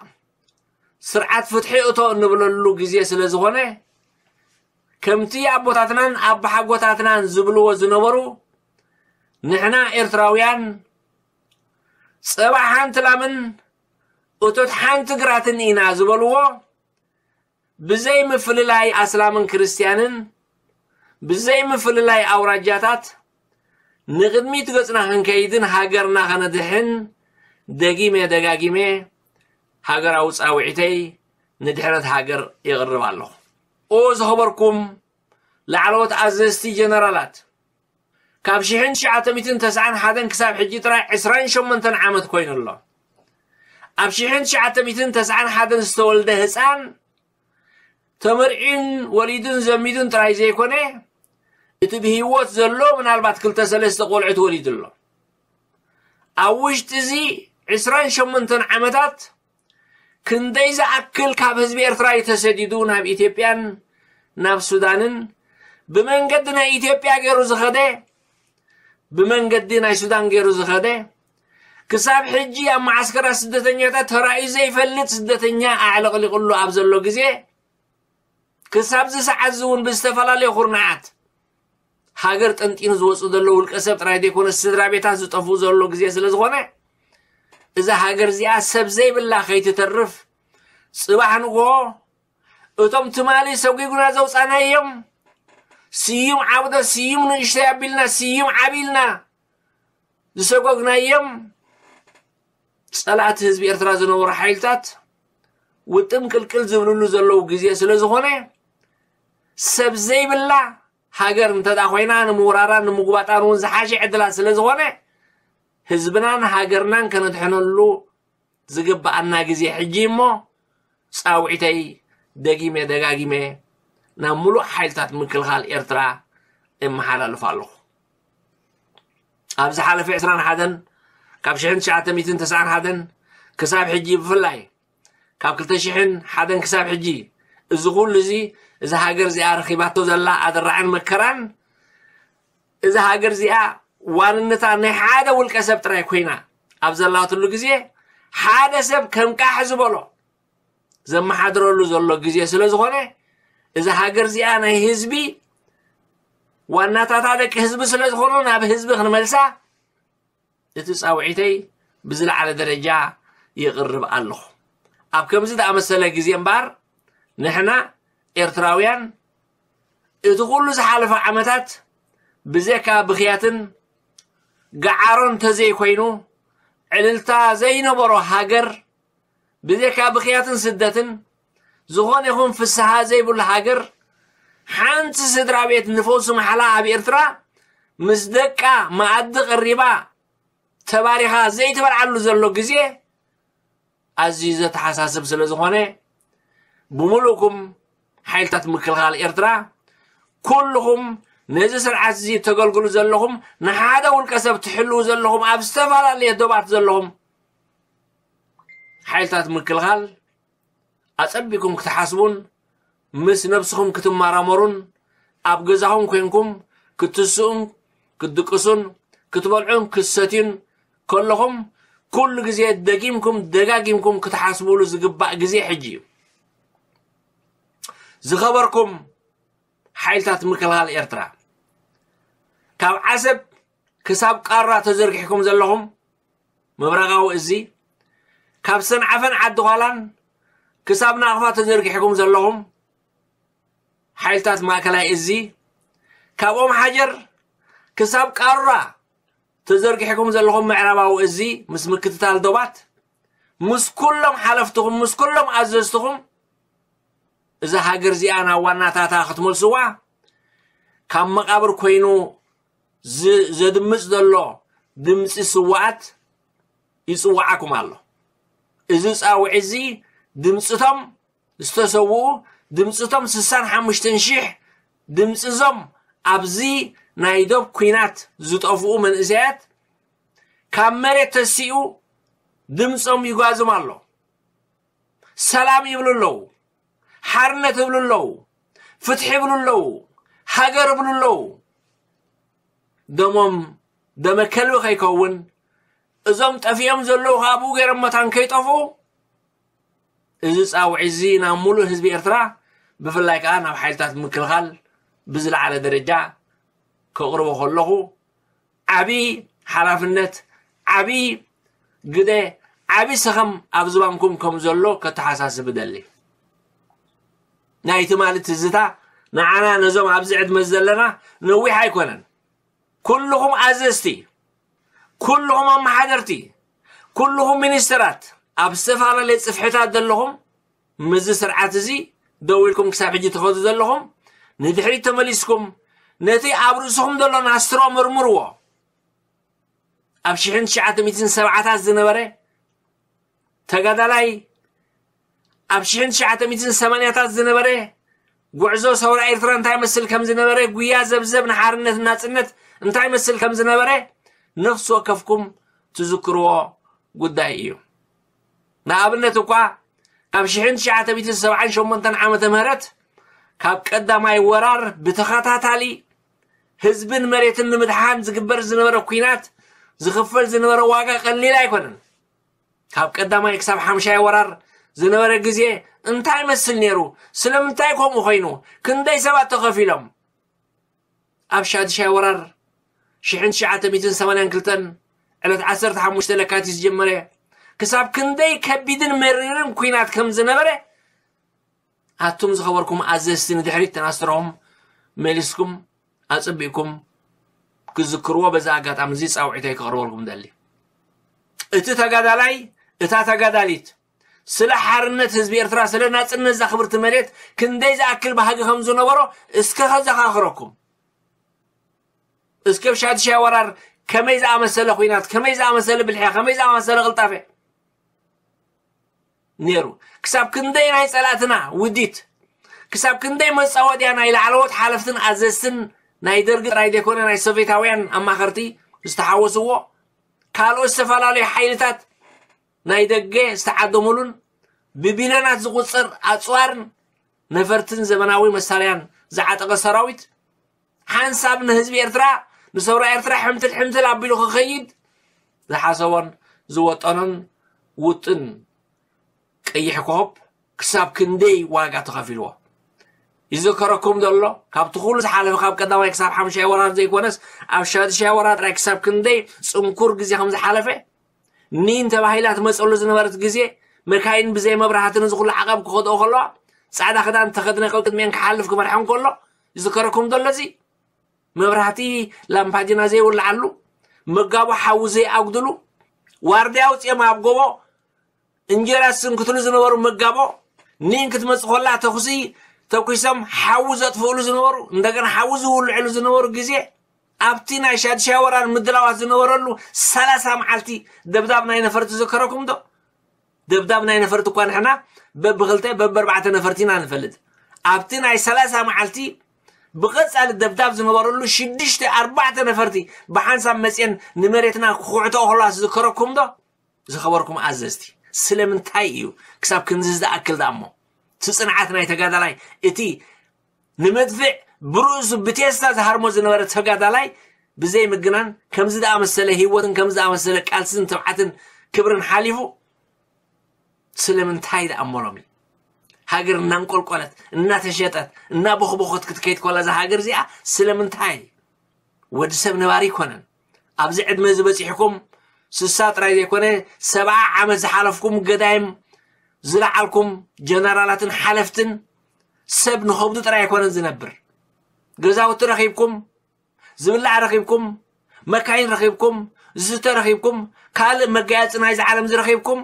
ስርዓት ፍትሒ እቶ እንብለሉ ግዜ ስለ ዝኾነ፣ ከምቲ ኣቦታትናን ኣባሓጎታትናን ዝብልዎ ዝነበሩ፣ ንሕና ኤርትራውያን ጸባ ሓንቲ ላምን እቶት ሓንቲ ግራትን ኢና ዝበልዎ፣ ብዘይ ምፍልላይ ኣስላምን ክርስትያንን፣ ብዘይ ምፍልላይ ኣውራጃታት ንቕድሚት ገጽና ክንከይድን ሃገርና ከነድሕን ደጊመ ደጋጊመ ሃገራዊ ጻውዒተይ ንድሕነት ሃገር የቕርብ ኣለኹ። ኦ ዝኸበርኩም ላዕለዎት ኣዘዝቲ ጀነራላት፣ ካብ ሽሕን ትሽዓተ ሚእትን ተስዓን ሓደን ክሳብ ሕጂ ጥራይ ዕስራን ሸሞንተን ዓመት ኮይኑ ኣሎ። ኣብ ሽሕን ትሽዓተ ሚእትን ተስዓን ሓደን ዝተወልደ ህጻን ተመርዒን ወሊዱን ዘሚዱን ጥራይ ዘይኮነ፣ እቲ ብህይወት ዘሎ ምናልባት ክልተ ሰለስተ ቆልዑ ተወሊዱ ኣሎ። ኣብ ውሽጢ እዚ ዕስራን ሸሞንተን ዓመታት ክንደይ ዝኣክል ካብ ህዝቢ ኤርትራ እዩ ተሰዲዱ ናብ ኢትዮጵያን ናብ ሱዳንን፣ ብመንገዲ ናይ ኢትዮጵያ ገይሩ ዝኸደ፣ ብመንገዲ ናይ ሱዳን ገይሩ ዝኸደ፣ ክሳብ ሕጂ ኣብ መዓስከራት ስደተኛታት ተራእዩ ዘይፈልጥ ስደተኛ ኣዕለቕሊቑሉ ኣብ ዘሎ ግዜ፣ ክሳብ እዚ ሰዓት እዚ እውን ብዝተፈላለዩ ኩርናዓት ሃገር ጠንጢኑ ዝወፁ ዘሎ ውልቀ ሰብ ጥራይ ዘይኮነ ስድራ ቤታት ዝጠፍኡ ዘሎ ግዜ ስለ ዝኾነ፣ እዛ ሃገር እዚኣ ሰብ ዘይብላ ከይትተርፍ፣ ጽባሕ ንግሆ እቶም ትማሊ ሰጒጉና ዘውጻናዮም፣ ስዩም ዓብዶ፣ ስዩም ንእሽተይ ኣቢልና፣ ስዩም ዓቢልና ዝሰጎግናዮም ጸላእቲ ህዝቢ ኤርትራ ዝነበሩ ሓይልታት ውጥም ቅልቅል ዝብልሉ ዘለዉ ግዜ ስለ ዝኾነ፣ ሰብ ዘይብላ ሃገር እንተ ደኣ ኮይና፣ ንምውራራን ንምጉባጣን እውን ዝሓሸ ዕድላት ስለ ዝኾነ፣ ህዝብናን ሃገርናን ከነድሕነሉ ዝግብኣና ግዜ ሕጂ እሞ፣ ጻውዒተይ ደጊመ ደጋጊመ ናብ ምሉእ ሓይልታት ምክልኻል ኤርትራ እመሓላልፍ ኣለኹ። ኣብ ዝሓለፈ ዕስራን ሓደን፣ ካብ ሽሕን ትሽዓተ ሚእትን ተስዓን ሓደን ክሳብ ሕጂ፣ ብፍላይ ካብ ክልተ ሽሕን ሓደን ክሳብ ሕጂ፣ እዚ ኩሉ እዚ፣ እዛ ሃገር እዚኣ ረኺባቶ ዘላ ኣደራዕን መከራን፣ እዛ ሃገር እዚኣ ዋንነታ ናይ ሓደ ውልቀ ሰብ ጥራይ ኮይና ኣብ ዘላትሉ ግዜ፣ ሓደ ሰብ ከም ቃሕ ዝበሎ ዘመሓድረሉ ዘሎ ግዜ ስለ ዝኾነ፣ እዛ ሃገር እዚኣ ናይ ህዝቢ፣ ዋናታታ ደቂ ህዝቢ ስለ ዝኾኑ፣ ናብ ህዝቢ ክንመልሳ እቲ ጻውዒተይ ብዝለዓለ ደረጃ ይቕርብ ኣለኹ። ኣብ ከምዚ ዝኣመሰለ ግዜ እምበኣር፣ ንሕና ኤርትራውያን እቲ ኩሉ ዝሓለፈ ዓመታት ብዘካ ብኽያትን ገዓሮን ተዘይኮይኑ፣ ዕልልታ ዘይነበሮ ሃገር፣ ብዘካ ብኽያትን ስደትን ዝኾነ ይኹን ፍስሃ ዘይብሉ ሃገር፣ ሓንቲ ስድራ ቤት ንፈውሲ ማሕላ ኣብ ኤርትራ ምስ ደቃ መኣዲ ቀሪባ ተባሪኻ ዘይትበልዓሉ ዘሎ ግዜ ኣዝዩ ዘተሓሳስብ ስለ ዝኾነ፣ ብምሉእኩም ሓይልታት ምክልኻል ኤርትራ፣ ኩልኹም ነዚ ስርዓት እዚ ተገልግሉ ዘለኹም፣ ንሓደ ውልቀ ሰብ ትሕልዉ ዘለኹም፣ ኣብ ዝተፈላለየ ዶባት ዘለኹም ሓይልታት ምክልኻል ኣጸቢኩም ክትሓስቡን ምስ ነብስኹም ክትመራመሩን፣ ኣብ ገዛኹም ኮንኩም ክትስኡን ክትድቅሱን ክትበልዑን ክትሰትዩን ከለኹም፣ ኩሉ ግዜ ደጊምኩም ደጋጊምኩም ክትሓስቡሉ ዝግባእ ግዜ ሕጂ እዩ። ዝኸበርኩም ሓይልታት ምክልኻል ኤርትራ፣ ካብ ዓሰብ ክሳብ ቃራ ተዘርጊሕኩም ዘለኹም ምብራቓዊ እዚ፣ ካብ ሰንዓፈን ዓዲ ዃላን ክሳብ ናቕፋ ተዘርጊሕኩም ዘለኹም ሓይልታት ማእከላይ እዚ፣ ካብ ኦም ሓጀር ክሳብ ቃራ ተዘርጊሕኩም ዘለኹም ምዕራባዊ እዚ፣ ምስ ምክትታል ዶባት፣ ምስ ኩሎም ሓለፍትኹም፣ ምስ ኩሎም ኣዘዝትኹም፣ እዛ ሃገር እዚኣ ናብ ዋናታታ ክትመልስዋ፣ ካብ መቓብር ኮይኑ ዝ-፣ ዘድምጽ ዘሎ ድምጺ ስውኣት ይጽውዓኩም ኣሎ። እዚ ጻውዒት እዚ ድምጽቶም ዝተሰውኡ፣ ድምጽቶም ስሳን ሓሙሽተን ሽሕ ድምጺ እዞም ኣብዚ ናይ ዶብ ኲናት ዝጠፍኡ መንእሰያት ካብ መሬት ተሲኡ ድምጾም ይጓዝም ኣሎ። ሰላም ይብሉ ኣለዉ፣ ሓርነት ይብሉ ኣለዉ፣ ፍትሒ ይብሉ ኣለዉ፣ ሃገር ይብሉ ኣለዉ። ደሞም ደመ ከልቢ ከይከውን፣ እዞም ጠፊኦም ዘለዉ ከኣ ብኡ ገይሮም መታን ከይጠፍኡ፣ እዚ ጻውዒት እዚ ናብ ሙሉእ ህዝቢ ኤርትራ፣ ብፍላይ ከኣ ናብ ሓይልታት ምክልኻል ብዝለዓለ ደረጃ ከቕርቦ ከለኹ፣ ዓቢ ሓላፍነት፣ ዓቢ ግደ፣ ዓቢ ሰኸም ኣብ ዝባንኩም ከም ዘሎ ከተሓሳስብ እደሊ። ናይ ትማሊ ትዝታ ንዓና ነዞም ኣብዚ ዕድመ ዘለና ነዊሕ ኣይኮነን። ኩልኹም ኣዘዝቲ፣ ኩልኹም ኣመሓደርቲ፣ ኩልኹም ሚኒስተራት፣ ኣብ ዝተፈላለየ ጽፍሕታት ዘለኹም፣ ምስዚ ስርዓት እዚ ደው ኢልኩም ክሳብ ሕጂ ትኸዱ ዘለኹም፣ ንድሕሪት ተመሊስኩም ነቲ ኣብ ርእስኹም ዘሎ ናስትሮ መርምርዎ። ኣብ ሽሕን ትሽዓተ ሚእትን ሰብዓታት ዝነበረ ተጋዳላይ፣ ኣብ ሽሕን ትሽዓተ ሚእትን ሰማንያታት ዝነበረ ጉዕዞ ሰውራ ኤርትራ እንታይ መስል ከም ዝነበረ፣ ጉያ ዘብዘብ ንሓርነት ናጽነት እንታይ መስል ከም ዝነበረ ነፍሲ ወከፍኩም ትዝክርዎ ጉዳይ እዩ። ንኣብነት እኳ ካብ ሽሕን ትሽዓተ ሚእትን ሰብዓን ሸሞንተን ዓመተ ምህረት ካብ ቀዳማይ ወራር ብተኸታታሊ ህዝብን መሬትን ንምድሓን ዝግበር ዝነበረ ኲናት ዝኽፈል ዝነበረ ዋጋ ቀሊል ኣይኮነን። ካብ ቀዳማይ ክሳብ ሓምሻይ ወራር ዝነበረ ግዜ እንታይ ይመስል ነይሩ? ስለምንታይ ከምኡ ኮይኑ? ክንደይ ሰባት ተኸፊሎም? ኣብ ሻድሻይ ወራር ሽሕን ትሽዓተ ሚእትን ሰማንያን ክልተን ዕለት ዓሰርተ ሓሙሽተ ለካቲት ዝጀመረ ክሳብ ክንደይ ከቢድን መሪርን ኲናት ከም ዝነበረ ኣቱም ዝኸበርኩም ኣዘዝቲ ንድሕሪት ተናስረኹም መሊስኩም ኣጸቢቕኩም ክዝክርዎ በዚ ኣጋጣሚ እዚ ጻውዒተይ ከቕርበልኩም ደሊ። እቲ ተጋዳላይ፣ እታ ተጋዳሊት ስለ ሓርነት ህዝቢ ኤርትራ፣ ስለ ናጽነት እዛ ክብርቲ መሬት ክንደይ ዝኣክል ባህጊ ከም ዝነበሮ እስከ ከዘኻኽረኩም። እስከ ኣብ ሻድሻይ ወራር ከመይ ዝኣመሰለ ኹናት፣ ከመይ ዝኣመሰለ ብልሕያ፣ ከመይ ዝኣመሰለ ቅልጣፈ ነይሩ። ክሳብ ክንደይ ናይ ጸላእትና ውዲት፣ ክሳብ ክንደይ መጻወድያ ናይ ላዕለዎት ሓለፍትን ኣዘዝትን ናይ ደርጊ ጥራይ ዘይኮነ ናይ ሶቪየታውያን ኣማኸርቲ ዝተሓወስዎ ካልኦት ዝተፈላለዩ ሓይልታት ናይ ደገ ዝተዓደሙሉን ብቢልዮናት ዝቑጸር ኣጽዋርን ነፈርትን ዘመናዊ መሳርያን ዝዓጠቐ ሰራዊት ሓንሳብ ንህዝቢ ኤርትራ ንሰውራ ኤርትራ ሕምትል ሕምትል ኣቢሉ ክኸይድ ዝሓሰቦን ዝወጠኖን ውጥን ቀይሕ ኮኾብ ክሳብ ክንደይ ዋጋ ተኸፊልዎ ይዝከረኩም ዘሎ። ካብቲ ኩሉ ዝሓለፈ ካብ ቀዳማይ ክሳብ ሓምሻይ ወራር ዘይኮነስ ኣብ ሻድሻይ ወራር ጥራይ ክሳብ ክንደይ ጽንኩር ግዜ ከም ዝሓለፈ ኒን ተባሂላ ትመጸሉ ዝነበረት ግዜ መካይን ብዘይ መብራህቲ ነዚ ኩሉ ዓቐብ ክኸድኦ ከለዋ ጻዕዳ ክዳን ተኸድነ ቅድሚኤን ክሓልፍ ክመርሐን ከሎ ይዝከረኩም ዘሎ እዚ መብራህቲ ላምፓዲና ዘይውልዓሉ መጋቦ ሓዊ ዘይኣጉድሉ ዋርድያ ኣውፅኦም ኣብ ጎቦ እንጀራ ዝስንክትሉ ዝነበሩ መጋቦ ኒን ክትመፅእ ከላ ተኩሲ ተኩሶም ሓዊ ዘጥፍእሉ ዝነበሩ እንደገና ሓዊ ዝውልዕሉ ዝነበሩ ግዜ ኣብቲ ናይ ሻድሻይ ወራር ምድላዋት ዝነበረሉ ሰላሳ መዓልቲ ደብዳብ ናይ ነፈርቲ ዝከረኩም ዶ? ደብዳብ ናይ ነፈርቲ እኳ ንሕና በብክልተ በብኣርባዕተ ነፈርቲ ኢና ንፈልጥ። ኣብቲ ናይ ሰላሳ መዓልቲ ብቐጻሊ ደብዳብ ዝነበረሉ ሽዱሽተ ኣርባዕተ ነፈርቲ ብሓንሳብ መፅየን ንመሬትና ክኹዕተኦ ከለዋ ዝዝከረኩም ዶ? ዝኸበርኩም ኣዘዝቲ፣ ስለምንታይ እዩ ክሳብ ክንዚ ዝኣክል ደኣ እሞ እቲ ጽንዓት ናይ ተጋዳላይ፣ እቲ ንመድፍዕ ብርእሱ ብቴስታ ዝሃርሞ ዝነበረ ተጋዳላይ ብዘይ ምግናን ከምዚ ዝኣመሰለ ህይወትን ከምዚ ዝኣመሰለ ቃልስን ትብዓትን ክብርን ሓሊፉ ስለምንታይ ደኣ እሞ ሎሚ ሃገር እናንቆልቆለት እናተሸጠት እናቦኽቦኸት ክትከይድ ከላ እዛ ሃገር እዚኣ ስለምንታይ ወዲ ሰብ ነባሪ ኣይኮነን። ኣብዚ ዕድመ እዚ በጺሕኩም ስሳ ጥራይ ዘይኮነ ሰብዓ ዓመት ዝሓለፍኩም ገዳይም ዝለዓልኩም ጀነራላትን ሓለፍትን ሰብ ንኸብዱ ጥራይ ኣይኮነን ዝነብር። ገዛውቲ ረኺብኩም፣ ዝብላዕ ረኺብኩም፣ መካይን ረኺብኩም፣ ዝስተ ረኺብኩም፣ ካልእ መጋየፂ ናይዚ ዓለም ዝረኺብኩም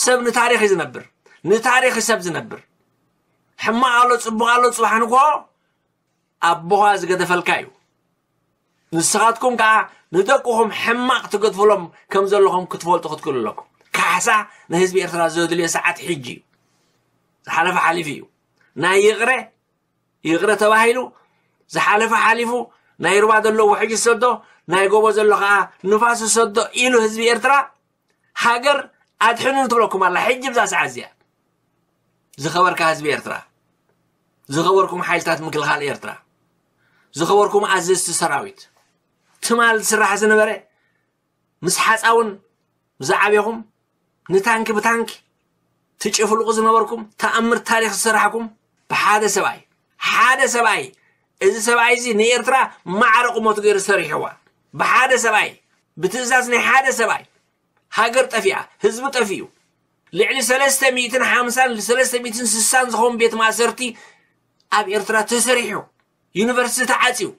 ሰብ ንታሪኽ እዩ ዝነብር። ንታሪኽ እዩ ሰብ ዝነብር። ሕማቕ ኣሎ፣ ፅቡቕ ኣሎ፣ ፅባሕ ንግሆ ኣቦኻ ዝገደፈልካ እዩ። ንስኻትኩም ከዓ ንደቅኹም ሕማቕ ትገድፍሎም ከም ዘለኹም ክትፈልጡ ክትክእሉ ኣለኩም። ካሕሳ ንህዝቢ ኤርትራ ዘድልዮ ሰዓት ሕጂ እዩ። ዝሓለፈ ሓሊፉ እዩ። ናይ ይቕረ ይቕረ ተባሂሉ ዝሓለፈ ሓሊፉ ናይ ሩባ ዘሎ ውሕጅ ዝሰዶ ናይ ጎቦ ዘሎ ከዓ ንፋስ ዝሰዶ ኢሉ ህዝቢ ኤርትራ ሃገር ኣድሕኑ ትብለኩም ኣላ። ሕጂ ብዛ ሰዓት እዚኣ ዝኸበርካ ህዝቢ ኤርትራ፣ ዝኸበርኩም ሓይልታት ምክልኻል ኤርትራ፣ ዝኸበርኩም ኣዘዝቲ ሰራዊት፣ ትማል ዝስራሕ ዝነበረ ምስ ሓፃውን ዝዓበኹም ንታንኪ ብታንኪ ትጭፍልቁ ዝነበርኩም ተኣምር ታሪኽ ዝሰራሕኩም ብሓደ ሰብኣይ ሓደ ሰብኣይ እዚ ሰብኣይ እዚ ንኤርትራ ማዕረ ቁመቱ ገይሩ ሰሪሕዋ ብሓደ ሰብኣይ ብትእዛዝ ናይ ሓደ ሰብኣይ ሃገር ጠፊኣ ህዝቢ ጠፊኡ ልዕሊ ሰለስተ ሚእትን ሓምሳን ሰለስተ ሚእትን ስሳን ዝኸውን ቤት ማእሰርቲ ኣብ ኤርትራ ተሰሪሑ ዩኒቨርሲቲ ተዓፅዩ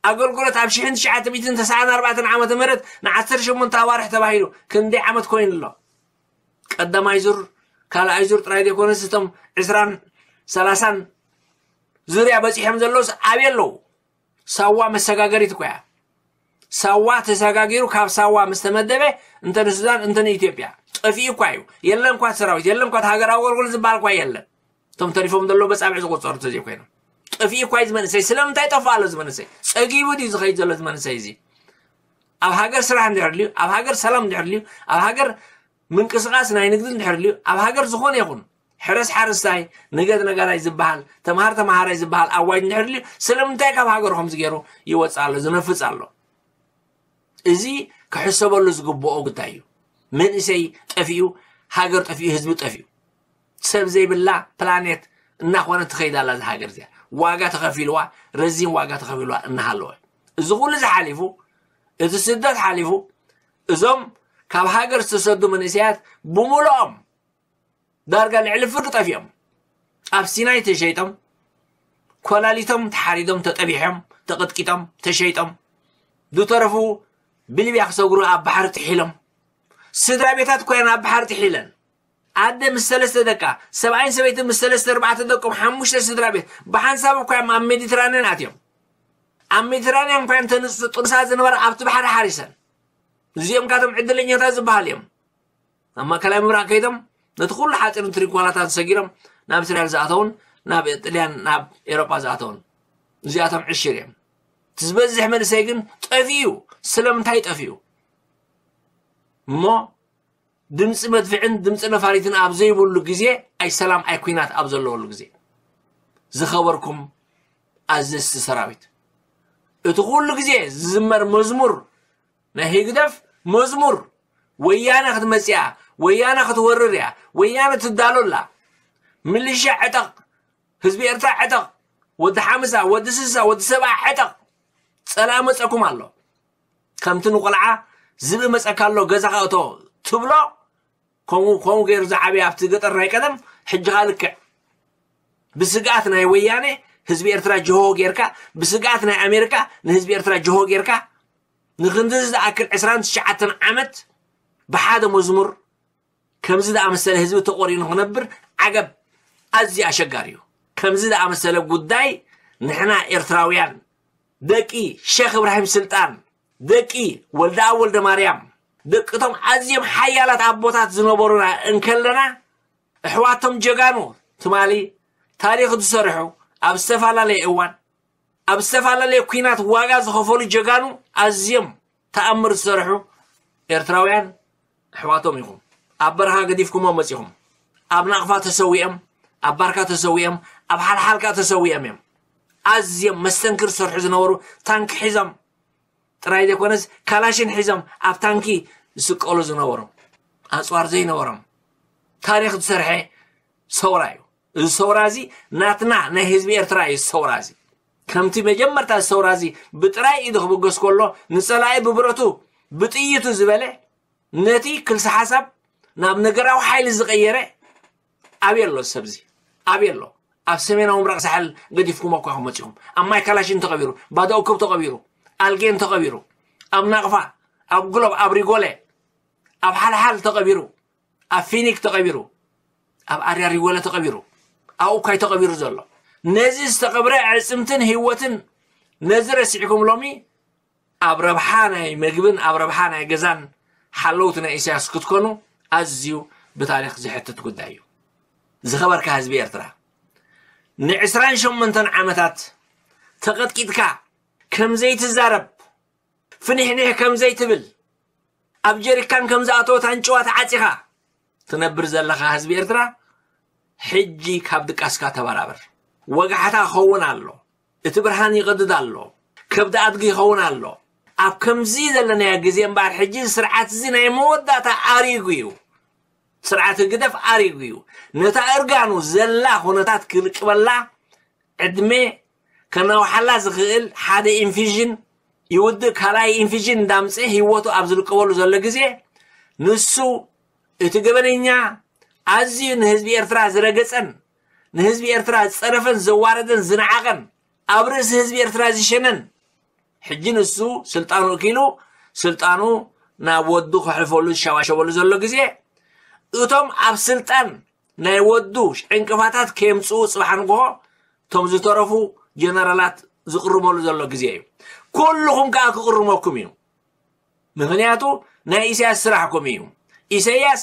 ኣገልግሎት ኣብ ሽሕን ትሽዓተ ሚእትን ተስዓን ኣርባዕተን ዓመተ ምህረት ንዓሰርተ ሸሞንተ ኣዋርሕ ተባሂሉ ክንደይ ዓመት ኮይኑ ኣሎ? ቀዳማይ ዙር ካልኣይ ዙር ጥራይ ዘይኮነስ እቶም ዕስራን ሰላሳን ዙርያ በፂሖም ዘለውስ ኣበይ ኣለዉ? ሳዋ መሰጋገሪት እኮ እያ። ሳዋ ተሰጋጊሩ ካብ ሳዋ ምስ ተመደበ እንተ ንሱዳን እንተ ንኢትዮጵያ ጠፊኡ እኳ እዩ። የለን እኳ ሰራዊት የለን እኳ ሃገራዊ ኣገልግሎት ዝበሃል እኳ የለን። እቶም ተሪፎም ዘለዉ በጻብዕ ዝቆጸሩ ተዘይኮይኖም። ጠፊኡ እኳ እዩ ዝመንእሰይ። ስለምንታይ ጠፍእ ኣሎ ዝመንእሰይ? ጸጊቡ ድዩ ዝኸይድ ዘሎ ዝመንእሰይ እዚ? ኣብ ሃገር ስራሕ እንድሕር ድልዩ፣ ኣብ ሃገር ሰላም እንድሕር ድልዩ፣ ኣብ ሃገር ምንቅስቃስ ናይ ንግዲ እንድሕር ድልዩ፣ ኣብ ሃገር ዝኾነ ይኹን ሕረስ ሓረስታይ፣ ንገድ ነጋዳይ ዝበሃል፣ ተምሃር ተምሃራይ ዝበሃል ኣዋጅ እንድሕር ድልዩ፣ ስለምንታይ ካብ ሃገሩ ከምዚ ገይሩ ይወፅእ ኣሎ፣ ዝነፍፅ ኣሎ? እዚ ክሕሰበሉ ዝግብኦ ጉዳይ እዩ። መንእሰይ ጠፊኡ፣ ሃገር ጠፊኡ፣ ህዝቢ ጠፊኡ። ሰብ ዘይብላ ፕላኔት እናኾነ ትኸይድ ኣላ እዛ ሃገር እዚኣ። ዋጋ ተኸፊልዋ፣ ረዚን ዋጋ ተኸፊልዋ እናሃለወ። እዚ ኩሉ እዚ ሓሊፉ፣ እቲ ስደት ሓሊፉ፣ እዞም ካብ ሃገር ዝተሰዱ መንእሰያት ብምልኦም ዳርጋ ልዕሊ ፍርቂ ጠፊኦም። ኣብ ሲናይ ተሸይጦም፣ ኮላሊቶም ተሓሪዶም፣ ተጠቢሖም፣ ተቐጥቂጦም፣ ተሸይጦም፣ ዝተረፉ ብሊብያ ክሰግሩ ኣብ ባሕሪ ጥሒሎም። ስድራ ቤታት ኮይነን ኣብ ባሕሪ ጥሒለን። ኣደ ምስ ሰለስተ ደቃ፣ ሰብኣይን ሰበይትን ምስ ሰለስተ ኣርባዕተ ደቆም፣ ሓሙሽተ ስድራ ቤት ብሓንሳብ እኳ እዮም ኣብ ሜዲትራንያን ኣትዮም። ኣብ ሜዲትራንያን እኳ እዮም ተንጽ-፣ ጥኑሳት ዝነበራ ኣብቲ ባሕሪ ሓሪሰን። እዚኦም ካቶም ዕድለኛታት ዝበሃል እዮም። ኣብ ማእከላይ ምብራቕ ከይዶም ነቲ ኩሉ ሓጺርን ትሪንኳላታን ሰጊሮም ናብ እስራኤል ዝኣተውን ናብ ጥልያን ናብ ኤውሮጳ ዝኣተውን እዚኣቶም ዕሽር እዮም። እቲ ዝበዝሕ መንእሰይ ግን ጠፊኡ። ስለምንታይ ጠፊኡ? እሞ ድምፂ መድፍዕን ድምፂ ነፋሪትን ኣብ ዘይብሉ ግዜ ኣይ ሰላም ኣይ ኩናት ኣብ ዘለወሉ ግዜ ዝኸበርኩም ኣዘዝቲ ሰራዊት፣ እቲ ኩሉ ግዜ ዝዝመር መዝሙር ናይ ህግደፍ መዝሙር፣ ወያነ ክትመፅእ እያ፣ ወያነ ክትወርር እያ፣ ወያነ ትዳሎ ኣላ፣ ምልሻ ዕጠቕ፣ ህዝቢ ኤርትራ ዕጠቕ፣ ወዲ ሓምሳ፣ ወዲ ስሳ፣ ወዲ ሰብዓ ዕጠቕ፣ ፀላኢ መፀኩም ኣሎ። ከምቲ ንቆልዓ ዝብኢ መፀካ ኣሎ ገዛኻ እቶ ትብሎ፣ ከምኡ ከምኡ ገይሩ ዝዓበየ ኣብቲ ገጠር ናይ ቀደም፣ ሕጂ ኸኣ ልክዕ ብስግኣት ናይ ወያነ ህዝቢ ኤርትራ ጅሆ ጌርካ፣ ብስግኣት ናይ ኣሜሪካ ንህዝቢ ኤርትራ ጅሆ ጌርካ፣ ንክንድዚ ዝኣክል ዕስራን ትሽዓተን ዓመት ብሓደ መዝሙር ከምዚ ዝኣመሰለ ህዝቢ ተቖሪኑ ክነብር ዓገብ ኣዝዩ ኣሸጋሪ እዩ። ከምዚ ዝኣመሰለ ጉዳይ ንሕና ኤርትራውያን ደቂ ሸኽ እብራሂም ስልጣን፣ ደቂ ወልደኣብ ወልደ ማርያም፣ ደቅቶም ኣዝዮም ሓያላት ኣቦታት ዝነበሩና እንከለና፣ ኣሕዋቶም ጀጋኑ ትማሊ ታሪኽ ዝሰርሑ፣ ኣብ ዝተፈላለየ እዋን ኣብ ዝተፈላለየ ኲናት ዋጋ ዝኸፈሉ ጀጋኑ ኣዝዮም ተኣምር ዝሰርሑ ኤርትራውያን ኣሕዋቶም ኢኹም። ኣብ በረኻ ገዲፍኩሞም መጺኹም። ኣብ ናቕፋ ተሰዊኦም፣ ኣብ ባርካ ተሰዊኦም፣ ኣብ ሓልሓልካ ተሰዊኦም እዮም። ኣዝዮም መስተንክር ዝሰርሑ ዝነበሩ፣ ታንኪ ሒዞም ጥራይ ዘይኮነስ ካላሽን ሒዞም ኣብ ታንኪ ዝስቀሉ ዝነበሩ፣ ኣጽዋር ዘይነበሮም፣ ታሪኽ ዝሰርሐ ሰውራ እዩ። እዚ ሰውራ እዚ ናትና ናይ ህዝቢ ኤርትራ እዩ። እዚ ሰውራ እዚ ከምቲ መጀመርታ እዚ ሰውራ እዚ ብጥራይ ኢዱ ክብገስ ከሎ ንጸላኢ ብብረቱ ብጥይቱ ዝበለ፣ ነቲ ክልሲ ሓሳብ ናብ ነገራዊ ሓይሊ ዝቐየረ ኣበይ ኣሎ? እዚ ሰብ እዚ ኣበይ ኣሎ? ኣብ ሰሜናዊ ምብራቕ ሳሕል ገዲፍኩሞ እኳ ኢኹም መጺኹም። ኣብ ማይ ካላሽን ተቐቢሩ፣ ባዶ እኩብ ተቐቢሩ፣ ኣልጌን ተቐቢሩ፣ ኣብ ናቕፋ፣ ኣብ ግሎብ፣ ኣብ ሪጎለ፣ ኣብ ሓልሓል ተቐቢሩ፣ ኣብ ፊኒክ ተቐቢሩ፣ ኣብ ኣርያ ሪጎለ ተቐቢሩ፣ ኣብኡ እኳ እዩ ተቐቢሩ ዘሎ። ነዚ ዝተቐብረ ኣዕጽምትን ህይወትን ነዚ ረሲዕኩም ሎሚ ኣብ ረብሓ ናይ መግብን ኣብ ረብሓ ናይ ገዛን ሓለውቲ ናይ ኢሳያስ ክትኮኑ ኣዝዩ ብታሪኽ ዝሕትት ጉዳይ እዩ። ዝኸበርካ ህዝቢ ኤርትራ፣ ንዕስራን ሸሞንተን ዓመታት ተቐጥቂጥካ ከም ዘይትዛረብ፣ ፍኒሕኒሕ ከም ዘይትብል፣ ኣብ ጀሪካን ከም ዝኣተወት ኣንጭዋ ተዓጺኻ ትነብር ዘለኻ ህዝቢ ኤርትራ፣ ሕጂ ካብ ድቃስካ ተበራበር። ወጋሕታ ክኸውን ኣሎ። እቲ ብርሃን ይቐድድ ኣሎ። ከብዲ ኣድጊ ይኸውን ኣሎ። ኣብ ከምዚ ዘለናዮ ግዜ እምበኣር፣ ሕጂ እዚ ስርዓት እዚ ናይ መወዳእታ ኣሪጉ እዩ። ስርዓት ህግደፍ ኣሪጉ እዩ። ነታ እርጋኑ ዘላ ኩነታት ክልቅበላ ዕድመ ከናውሓላ ዝኽእል ሓደ ኢንፊዥን ይውድእ፣ ካልኣይ ኢንፊዥን እንዳምጽእ ህይወቱ ኣብ ዝልቀበሉ ዘሎ ግዜ፣ ንሱ እቲ ገበነኛ፣ ኣዝዩ ንህዝቢ ኤርትራ ዝረገጸን ንህዝቢ ኤርትራ ዝጸረፈን ዘዋረደን ዝነዓቐን፣ ኣብ ርእሲ ህዝቢ ኤርትራ ዝሸነን፣ ሕጂ ንሱ ስልጣኑ እኪሉ ስልጣኑ ናብ ወዱ ከሕልፈሉ ዝሸዋሸወሉ ዘሎ ግዜ፣ እቶም ኣብ ስልጣን ናይ ወዱ ዕንቅፋታት ከየምጽኡ ጽባሕ ንግሆ እቶም ዝተረፉ ጀነራላት ዝቕርመሉ ዘሎ ግዜ እዩ። ኩልኹም ከኣ ክቕርመኩም እዩ። ምኽንያቱ ናይ ኢሳያስ ስራሕኩም እዩ። ኢሳያስ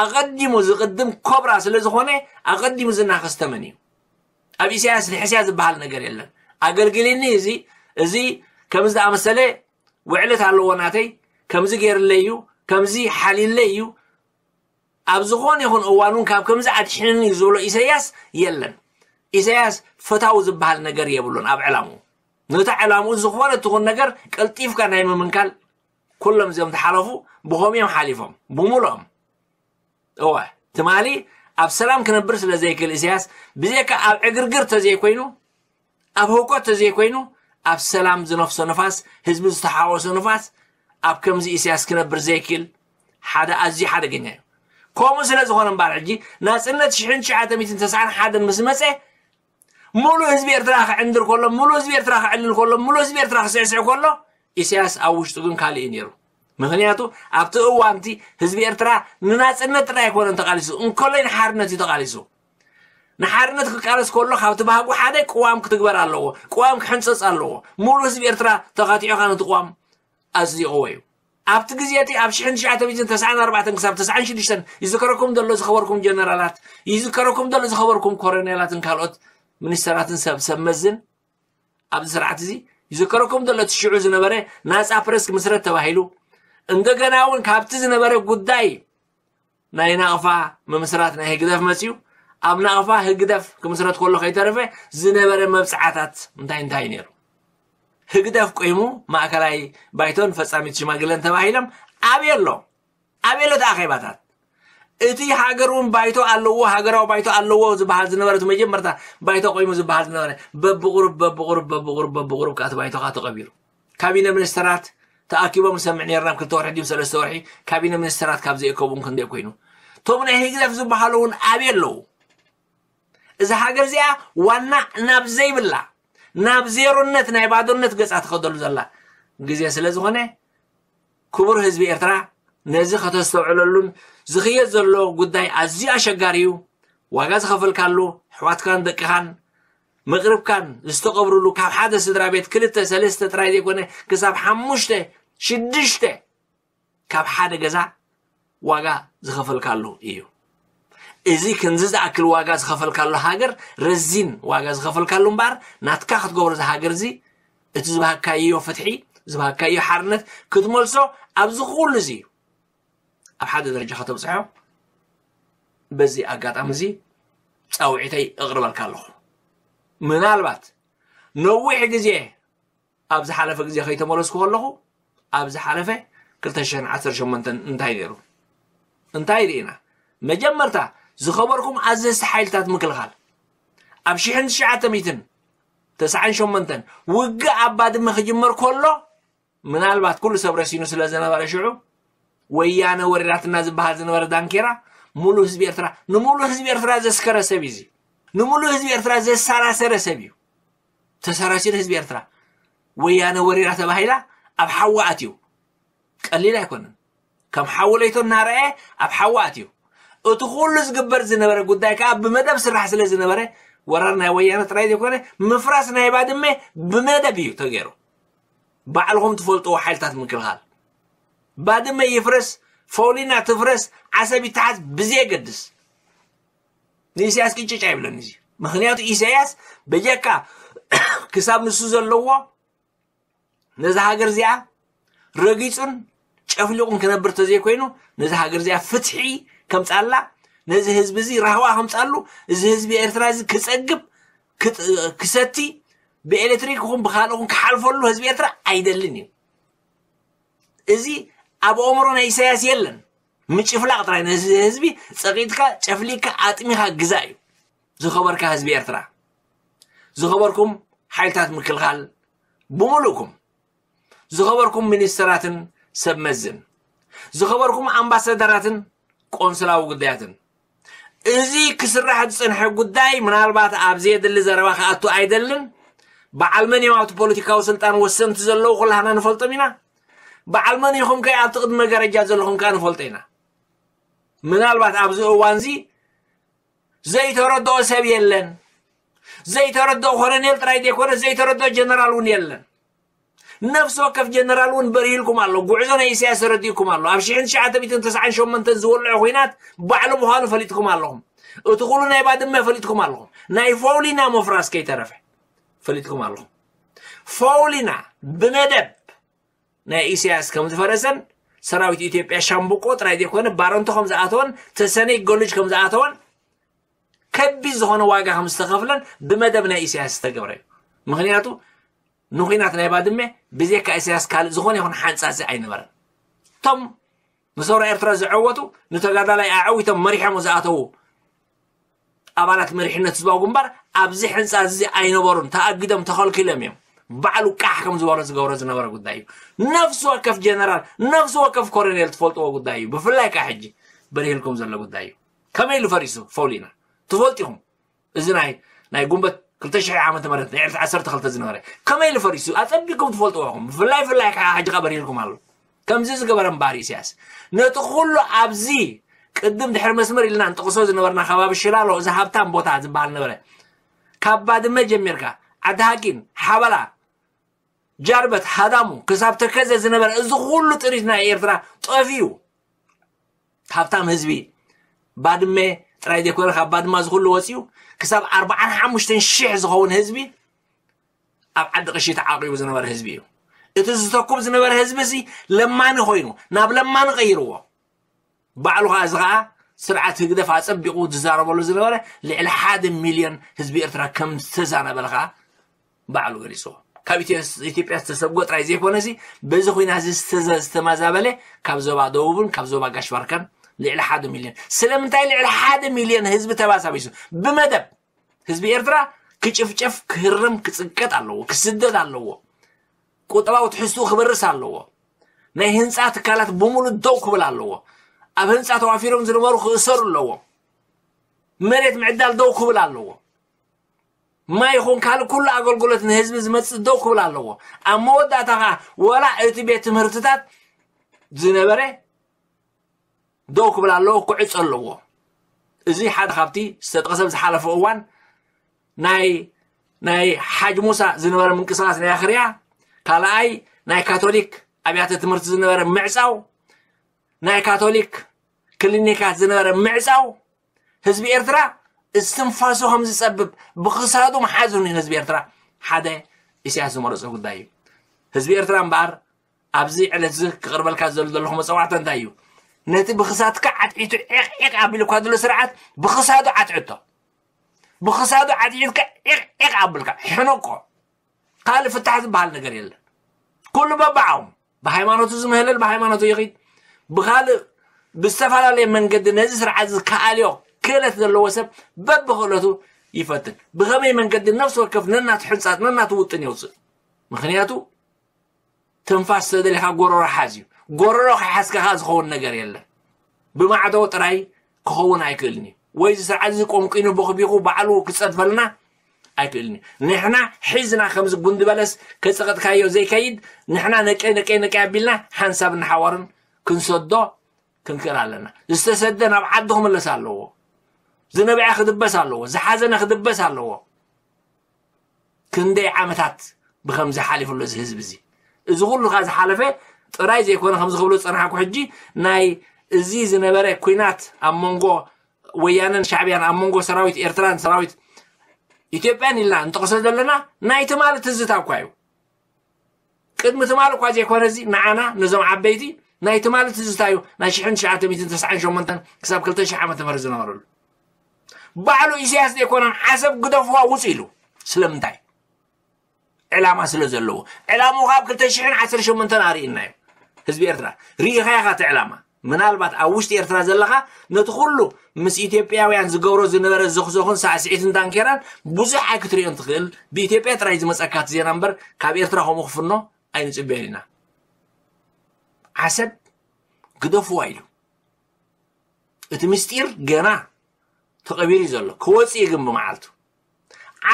ኣቐዲሙ ዝቕድም ኮብራ ስለ ዝኾነ ኣቐዲሙ ዝናኸስ ተመን እዩ። ኣብ ኢሳያስ ንሕስያ ዝበሃል ነገር የለን። ኣገልግልኒ፣ እዚ እዚ ከምዚ ዝኣመሰለ ውዕለት ኣለዎ ናተይ፣ ከምዚ ገይርለይ እዩ፣ ከምዚ ሓሊለይ እዩ፣ ኣብ ዝኾነ ይኹን እዋን እውን ካብ ከምዚ ኣድሒንኒ እዩ ዝብሎ ኢሳያስ የለን። ኢሳያስ ፈታዊ ዝበሃል ነገር የብሉን ኣብ ዕላምኡ። ነታ ዕላምኡ ዝኾነ ትኹን ነገር ቀልጢፍካ ናይ ምምንካል፣ ኩሎም እዚኦም ተሓለፉ ብኸምኡ እዮም ሓሊፎም ብምሉኦም። እወ፣ ትማሊ ኣብ ሰላም ክነብር ስለ ዘይክእል ኢሳያስ፣ ብዘይካ ኣብ ዕግርግር ተዘይኮይኑ፣ ኣብ ህውከት ተዘይኮይኑ፣ ኣብ ሰላም ዝነፍሶ ንፋስ፣ ህዝቢ ዝተሓወሶ ንፋስ፣ ኣብ ከምዚ ኢሳያስ ክነብር ዘይክእል ሓደ ኣዝዩ ሓደገኛ እዩ። ከምኡ ስለ ዝኾነ እምበኣር ሕጂ ናጽነት ሽሕን ትሽዓተ ሚእትን ተስዓን ሓደን ምስ መጸ፣ ሙሉእ ህዝቢ ኤርትራ ክዕንድር ከሎ፣ ሙሉእ ህዝቢ ኤርትራ ክዕልል ከሎ፣ ሙሉእ ህዝቢ ኤርትራ ክስዕስዕ ከሎ፣ ኢሳያስ ኣብ ውሽጡ ግን ካልእ እዩ ነይሩ። ምኽንያቱ ኣብቲ እዋንቲ ህዝቢ ኤርትራ ንናጽነት ጥራይ ኣይኮነን ተቓሊሱ፣ እንከሎይ ንሓርነት እዩ ተቓሊሱ። ንሓርነት ክቃለስ ከሎ ካብቲ ባህጉ ሓደ ቅዋም ክትግበር ኣለዎ፣ ቅዋም ክሕንጸጽ ኣለዎ። ሙሉእ ህዝቢ ኤርትራ ተኻቲዑ ነቲ ቅዋም ኣጽዲቕዎ እዩ። ኣብቲ ግዜ እቲ ኣብ ሽሕን ትሽዓተ ሚእትን ተስዓን ኣርባዕተን ክሳብ ተስዓን ሽዱሽተን ይዝከረኩም ዘሎ ዝኸበርኩም ጀነራላት፣ ይዝከረኩም ዘሎ ዝኸበርኩም ኮሎኔላትን ካልኦት ሚኒስተራትን ሰብ ሰብ መዝን ኣብዚ ስርዓት እዚ ይዝከረኩም ዘሎ እቲ ሽዑ ዝነበረ ናጻ ፕረስ ክምስረት ተባሂሉ፣ እንደገና እውን ካብቲ ዝነበረ ጉዳይ ናይ ናቕፋ ምምስራት ናይ ህግደፍ መጽዩ፣ ኣብ ናቕፋ ህግደፍ ክምስረት ከሎ ከይተረፈ ዝነበረ መብጽዓታት እንታይ እንታይ ነይሩ? ህግደፍ ቆይሙ ማእከላይ ባይቶን ፈጻሚት ሽማግለን ተባሂሎም ኣበይ ኣሎ? ኣበይ ኣሎ እቲ ኣኼባታት? እቲ ሃገር እውን ባይቶ ኣለዎ፣ ሃገራዊ ባይቶ ኣለዎ ዝበሃል ዝነበረ፣ እቲ መጀመርታ ባይቶ ቆይሙ ዝበሃል ዝነበረ፣ በብቑሩብ፣ በብቑሩብ፣ በብቑሩብ፣ በብቑሩብ ከኣ እቲ ባይቶ ከኣ ተቐቢሩ። ካቢነ ሚኒስተራት ተኣኪቦም ንሰምዕ ነይርና፣ ኣብ ክልተ ወርሒ ድዩ ሰለስተ ወርሒ፣ ካቢነ ሚኒስተራት ካብ ዘይእከቡ እውን ክንደይ ኮይኑ። እቶም ናይ ህግደፍ ዝበሃሉ እውን ኣበይ ኣለዉ? እዛ ሃገር እዚኣ ዋና ናብ ዘይብላ፣ ናብ ዜሮነት፣ ናይ ባዶነት ገጻ ትኸደሉ ዘላ ግዜ ስለ ዝኾነ፣ ክቡር ህዝቢ ኤርትራ፣ ነዚ ከተስተውዕለሉን፣ ዝኽየድ ዘሎ ጉዳይ ኣዝዩ ኣሸጋሪ እዩ። ዋጋ ዝኸፈልካሉ፣ ኣሕዋትካን ደቅኻን፣ መቕርብካን ዝተቐብሩሉ፣ ካብ ሓደ ስድራ ቤት ክልተ፣ ሰለስተ ጥራይ ዘይኮነ፣ ክሳብ ሓሙሽተ፣ ሽዱሽተ ካብ ሓደ ገዛ ዋጋ ዝኸፈልካሉ እዩ። እዚ ክንዚ ዝኣክል ዋጋ ዝኸፈልካሉ ሃገር፣ ረዚን ዋጋ ዝኸፈልካሉ እምበኣር፣ ናትካ ክትገብሮ እዚ ሃገር እዚ፣ እቲ ዝበሃካዮ ፍትሒ፣ ዝበሃካዮ ሓርነት ክትመልሶ ኣብዚ ኩሉ እዚ እዩ። ኣብ ሓደ ደረጃ ከተብጽሖ በዚ ኣጋጣሚ እዚ ጻውዒተይ እቕርበልካ ኣለኹ። ምናልባት ነዊሕ ግዜ ኣብ ዝሓለፈ ግዜ ከይተመለስኩ ከለኹ፣ ኣብ ዝሓለፈ ክልተ ሽሕን ዓሰርተ ሸሞንተን እንታይ ነይሩ? እንታይ ርኢና? መጀመርታ ዝኸበርኩም ኣዘዝቲ ሓይልታት ምክልኻል፣ ኣብ ሽሕን ትሽዓተ ሚእትን ተስዓን ሸሞንተን ውግእ ኣብ ባድመ ክጅመር ከሎ፣ ምናልባት ኩሉ ሰብ ረሲኑ ስለ ዝነበረ ሽዑ፣ ወያነ ወሪራትና ዝበሃል ዝነበረ ዳንኬራ፣ ሙሉ ህዝቢ ኤርትራ፣ ንሙሉ ህዝቢ ኤርትራ ዘስከረ ሰብ እዩ እዚ። ንሙሉ ህዝቢ ኤርትራ ዘሰራሰረ ሰብ እዩ። ተሰራሲሩ ህዝቢ ኤርትራ። ወያነ ወሪራ ተባሂላ ኣብ ሓዊ ኣትዩ። ቀሊል ኣይኮነን። ከም ሓዊ ለይቶ እናረኣየ ኣብ ሓዊ ኣትዩ። እቲ ኩሉ ዝግበር ዝነበረ ጉዳይ ከኣ ብመደብ ስራሕ ስለ ዝነበረ፣ ወራር ናይ ወያነ ጥራይ ዘይኮነ፣ ምፍራስ ናይ ባድመ ብመደብ እዩ ተገይሩ። ባዕልኹም ትፈልጥዎ ሓይልታት ምክልኻል። ባድመ ይፍረስ፣ ፎሊና ትፍረስ፣ ዓሰብ ይተሓዝ ብዘየገድስ፣ ንኢሳያስ ቅጭጭ ኣይብለን እዚ። ምኽንያቱ ኢሳያስ በጀካ ክሳብ ንሱ ዘለዎ ነዛ ሃገር እዚኣ ረጊጹን ጨፍሊቑን ክነብር ተዘይኮይኑ፣ ነዛ ሃገር እዚኣ ፍትሒ ከምጻላ፣ ነዚ ህዝቢ እዚ ራህዋ ከምጻሉ፣ እዚ ህዝቢ ኤርትራ እዚ ክጸግብ፣ ክጥ-፣ ክሰቲ፣ ብኤሌክትሪክ ይኹን ብኻልእ ይኹን ክሓልፈሉ ህዝቢ ኤርትራ ኣይደልን እዩ። እዚ ኣብ ኣእምሮ ናይ ኢሳያስ የለን። ምጭፍላቕ ጥራይ ነዚ ህዝቢ ጸቒጥካ፣ ጨፍሊቕካ፣ ኣጥሚኻ ግዛእ እዩ። ዝኸበርካ ህዝቢ ኤርትራ፣ ዝኸበርኩም ሓይልታት ምክልኻል ብምሉእኩም፣ ዝኸበርኩም ሚኒስተራትን ሰብ መዝን፣ ዝኸበርኩም ኣምባሳደራትን ቆንስላዊ ጉዳያትን፣ እዚ ክስራሕ ዝጸንሐ ጉዳይ ምናልባት ኣብ ዘየድሊ ዘረባ ክኣቱ ኣይደልን። በዓል መን እዮም ኣብቲ ፖለቲካዊ ስልጣን ወሰንቲ ዘለዉ ኩላህና ንፈልጦም ኢና። በዓል መን ኢኹም ከ ኣብቲ ቅድሚ መጋረጃ ዘለኹም ከኣ ንፈልጦ ኢና። ምናልባት ኣብዚ እዋንዚ ዘይተረድኦ ሰብ የለን። ዘይተረድኦ ኮሎኔል ጥራይ ዘይኮነ ዘይተረድኦ ጀነራል እውን የለን። ነፍሲ ወከፍ ጀነራል እውን በሪህልኩም ኣሎ። ጉዕዞ ናይ ኢሳያስ ተረዲእኩም ኣሎ። ኣብ ሽሕን ትሽዓተ ሚእትን ተስዓን ሸሞንተን ዝወልዖ ኹናት ባዕሉ ምዃኑ ፈሊጥኩም ኣለኹም። እቲ ኩሉ ናይ ባድመ ፈሊጥኩም ኣለኹም። ናይ ፎውሊና ምፍራስ ከይተረፈ ፈሊጥኩም ኣለኹም። ፎውሊና ብመደብ ናይ ኢሳያስ ከም ዝፈረሰን ሰራዊት ኢትዮጵያ ሻምብቆ ጥራይ ዘይኮነ ባረንቶ ከም ዝኣተወን ተሰነይ ገሉጅ ከም ዝኣተወን ከቢድ ዝኾነ ዋጋ ከም ዝተኸፍለን ብመደብ ናይ ኢሳያስ ዝተገብረ እዩ። ምኽንያቱ ንኹናት ናይ ባድመ ብዘይካ ኢሳያስ ካልእ ዝኾነ ይኹን ሓንጻጺ ኣይነበረን። እቶም ንሰውራ ኤርትራ ዝዐወቱ ንተጋዳላይ ኣዐዊቶም መሪሖም ዝኣተዉ ኣባላት መሪሕነት ህዝባዊ ግንባር ኣብዚ ሕንጻ እዚ ኣይነበሩን፣ ተኣጊዶም ተኸልኪሎም እዮም። ባዕሉ ቃሕ ከም ዝበሎ ዝገብሮ ዝነበረ ጉዳይ እዩ። ነፍሲ ወከፍ ጀነራል፣ ነፍሲ ወከፍ ኮሎኔል ትፈልጥዎ ጉዳይ እዩ። ብፍላይ ከዓ ሕጂ በሪህልኩም ዘሎ ጉዳይ እዩ። ከመይ ኢሉ ፈሪሱ ፎሊና ትፈልጡ ኢኹም። እዚ ናይ ናይ ጉንበት ክልተ ሽሕ ዓመተ ምህረት ናይ ዕለት ዓሰርተ ክልተ ዝነበረ ከመይ ኢሉ ፈሪሱ ኣጸቢቅኩም ትፈልጥዎ ኢኹም። ብፍላይ ፍላይ ከዓ ሕጂ ከዓ በሪህልኩም ኣሎ። ከምዚ ዝገበረ እምበኣር ኢሳያስ ነቲ ኩሉ ኣብዚ ቅድም ድሕሪ መስመር ኢልና ንጥቕሶ ዝነበርና ከባቢ ሽላሎ እዚ ሃብታም ቦታ ዝበሃል ነበረ። ካብ ባድመ ጀሚርካ ዓዲ ሃቂን ሓበላ ጃርበት ሃዳሙ ክሳብ ተከዘ ዝነበረ እዚ ኩሉ ጥሪት ናይ ኤርትራ ጠፊኡ። ሃብታም ህዝቢ ባድመ ጥራይ ዘይኮነ ካብ ባድማ ዝኩሉ ወፂኡ ክሳብ ኣርባዓን ሓሙሽተን ሽሕ ዝኸውን ህዝቢ ኣብ ዓዲ ቅሺ ተዓቂቡ ዝነበረ ህዝቢ እዩ። እቲ ዝተኩብ ዝነበረ ህዝቢ እዚ ለማኒ ኮይኑ ናብ ለማኒ ቀይርዎ። ባዕሉ ከዓ እዚ ከዓ ስርዓት ህግደፍ ኣጸቢቑ ዝዛረበሉ ዝነበረ ልዕሊ ሓደ ሚልዮን ህዝቢ ኤርትራ ከም ዝተዛነበለ ከዓ ባዕሉ ገሊፅዎ። ካብ ኢትዮ- ኢትዮጵያ ዝተሰጎ ጥራይ ዘይኮነሲ በዚ ኩናት እዚ ዝተዘ- ዝተመዛበለ ካብ ዞባ ደቡብን ካብ ዞባ ጋሽ ባርካን ልዕሊ ሓደ ሚልዮን። ስለምንታይ ልዕሊ ሓደ ሚልዮን ህዝቢ ተባሳቢሱ ብመደብ ህዝቢ ኤርትራ ክጭፍጨፍ ክህረም ክፅቀጥ ኣለዎ፣ ክስደድ ኣለዎ። ቁጠባዊ ትሕዝትኡ ክበርስ ኣለዎ። ናይ ህንፃ ትካላት ብምሉእ ደው ክብል ኣለዎ። ኣብ ህንፃ ተዋፊሮም ዝነበሩ ክእሰሩ ኣለዎ። መሬት ምዕዳል ደው ክብል ኣለዎ። ማይ ይኹን ካልእ ኩሉ ኣገልግሎት ንህዝቢ ዝመፅእ ደው ክብል ኣለዎ። ኣብ መወዳእታ ከዓ ወላ እቲ ቤት ትምህርትታት ዝነበረ ደው ክብል ኣለዎ፣ ክዕፆ ኣለዎ። እዚ ሓደ ካብቲ ዝተጠቕሰ ኣብ ዝሓለፈ እዋን ናይ ናይ ሓጅ ሙሳ ዝነበረ ምንቅስቃስ ናይ ኣኽርያ፣ ካልኣይ ናይ ካቶሊክ ኣብያተ ትምህርቲ ዝነበረ ምዕፃው፣ ናይ ካቶሊክ ክሊኒካት ዝነበረ ምዕፃው፣ ህዝቢ ኤርትራ እስትንፋሱ ከም ዝፀብብ ብክሳዱ መሓዙን እዩ። ህዝቢ ኤርትራ ሓደ ኢሳያስ ዝመረፆ ጉዳይ እዩ። ህዝቢ ኤርትራ እምበኣር ኣብዚ ዕለት እዚ ክቕርበልካ ዘሎ ዘለኹ መፀዋዕታ እንታይ እዩ? ነቲ ብክሳድካ ዓትዒቱ ዒቕ ዒቕ ኣቢሉካ ዘሎ ስርዓት ብክሳዱ ዓትዕቶ። ብክሳዱ ዓትዒትካ ዒቕ ዒቕ ኣብልካ ሕነቆ። ካልእ ፍታሕ ዝበሃል ነገር የለን። ኩሉ በባዓው ብሃይማኖቱ ዝምህለል ብሃይማኖቱ ይኺድ። ብኻልእ ብዝተፈላለየ መንገዲ ነዚ ስርዓት እዚ ክኣልዮ ክእለት ዘለዎ ሰብ በብክእለቱ ይፈትን። ብኸመይ መንገዲ ነፍሲ ወከፍ ነናቱ ሕንጻት ነናቱ ውጥን የውፅእ። ምኽንያቱ ትንፋስ ተደሊኻ ጎረሮ ሓዝ እዩ። ጎረሮ ከይሓዝካ ከዓ ዝኸውን ነገር የለን። ብማዕዶ ጥራይ ክኸውን ኣይክእልን እዩ። ወይ እዚ ስርዓት እዚ ቆንቂኑ ቦኽቢኹ ባዕሉ ክፀድፈልና ኣይክእልን እዩ። ንሕና ሒዝና ከምዚ ጉንዲ በለስ ከፀቐጥካዮ ዘይከይድ ንሕና ነቀይ ነቀይ ነቀይ ኣቢልና ሓንሳብ እናሓዋርን ክንሰዶ ክንክእል ኣለና። ዝተሰደ ናብ ዓዱ ክምለስ ኣለዎ። ዝነበዐ ክድበስ ኣለዎ። ዝሓዘነ ክድበስ ኣለዎ። ክንደይ ዓመታት ብኸምዚ ሓሊፉ ኣሎ እዚ ህዝቢ እዚ። እዚ ኩሉ ካብ ዝሓለፈ ጥራይ ዘይኮነ ከምዚ ክብሎ ዝጸናሕኩ ሕጂ ናይ እዚ ዝነበረ ኲናት ኣብ መንጎ ወያነን ሻዕብያን ኣብ መንጎ ሰራዊት ኤርትራን ሰራዊት ኢትዮጵያን ኢልና እንጠቕሶ ዘለና ናይ ትማሊ ትዝታ እኳ እዩ። ቅድሚ ትማሊ እኳ ዘይኮነ እዚ ንዓና ነዞም ዓበይቲ ናይ ትማሊ ትዝታ እዩ። ናይ ሽሕን ትሽዓተ ሚእትን ተስዓን ሸሞንተን ክሳብ ክልተ ሽሕ ዓመተ ምህረት ዝነበረሉ ባዕሉ ኢሳያስ ዘይኮነን ዓሰብ ግደፍዋ ውፅ ኢሉ ስለምንታይ ዕላማ ስለ ዘለዎ ዕላማኡ ካብ ክልተ ሽሕን ዓሰርተ ሸሞንተን ኣርእና እዩ ህዝቢ ኤርትራ ርኢኻ ኢኻ እቲ ዕላማ ምናልባት ኣብ ውሽጢ ኤርትራ ዘለኻ ነቲ ኩሉ ምስ ኢትዮጵያውያን ዝገብሮ ዝነበረ ዘኽዘኽን ሳዕስዒትን ዳንኬራን ብዙሕ ኣይክትርእዮን ትኽእል ብኢትዮጵያ ጥራይ ዝመፀካ እቲ ዜና እምበር ካብ ኤርትራ ከምኡ ክፍኖ ኣይንፅበዮን ኢና ዓሰብ ግደፍዋ ኢሉ እቲ ምስጢር ገና ተቐቢሩ እዩ ዘሎ ክወፅእ እዩ ግን ብመዓልቱ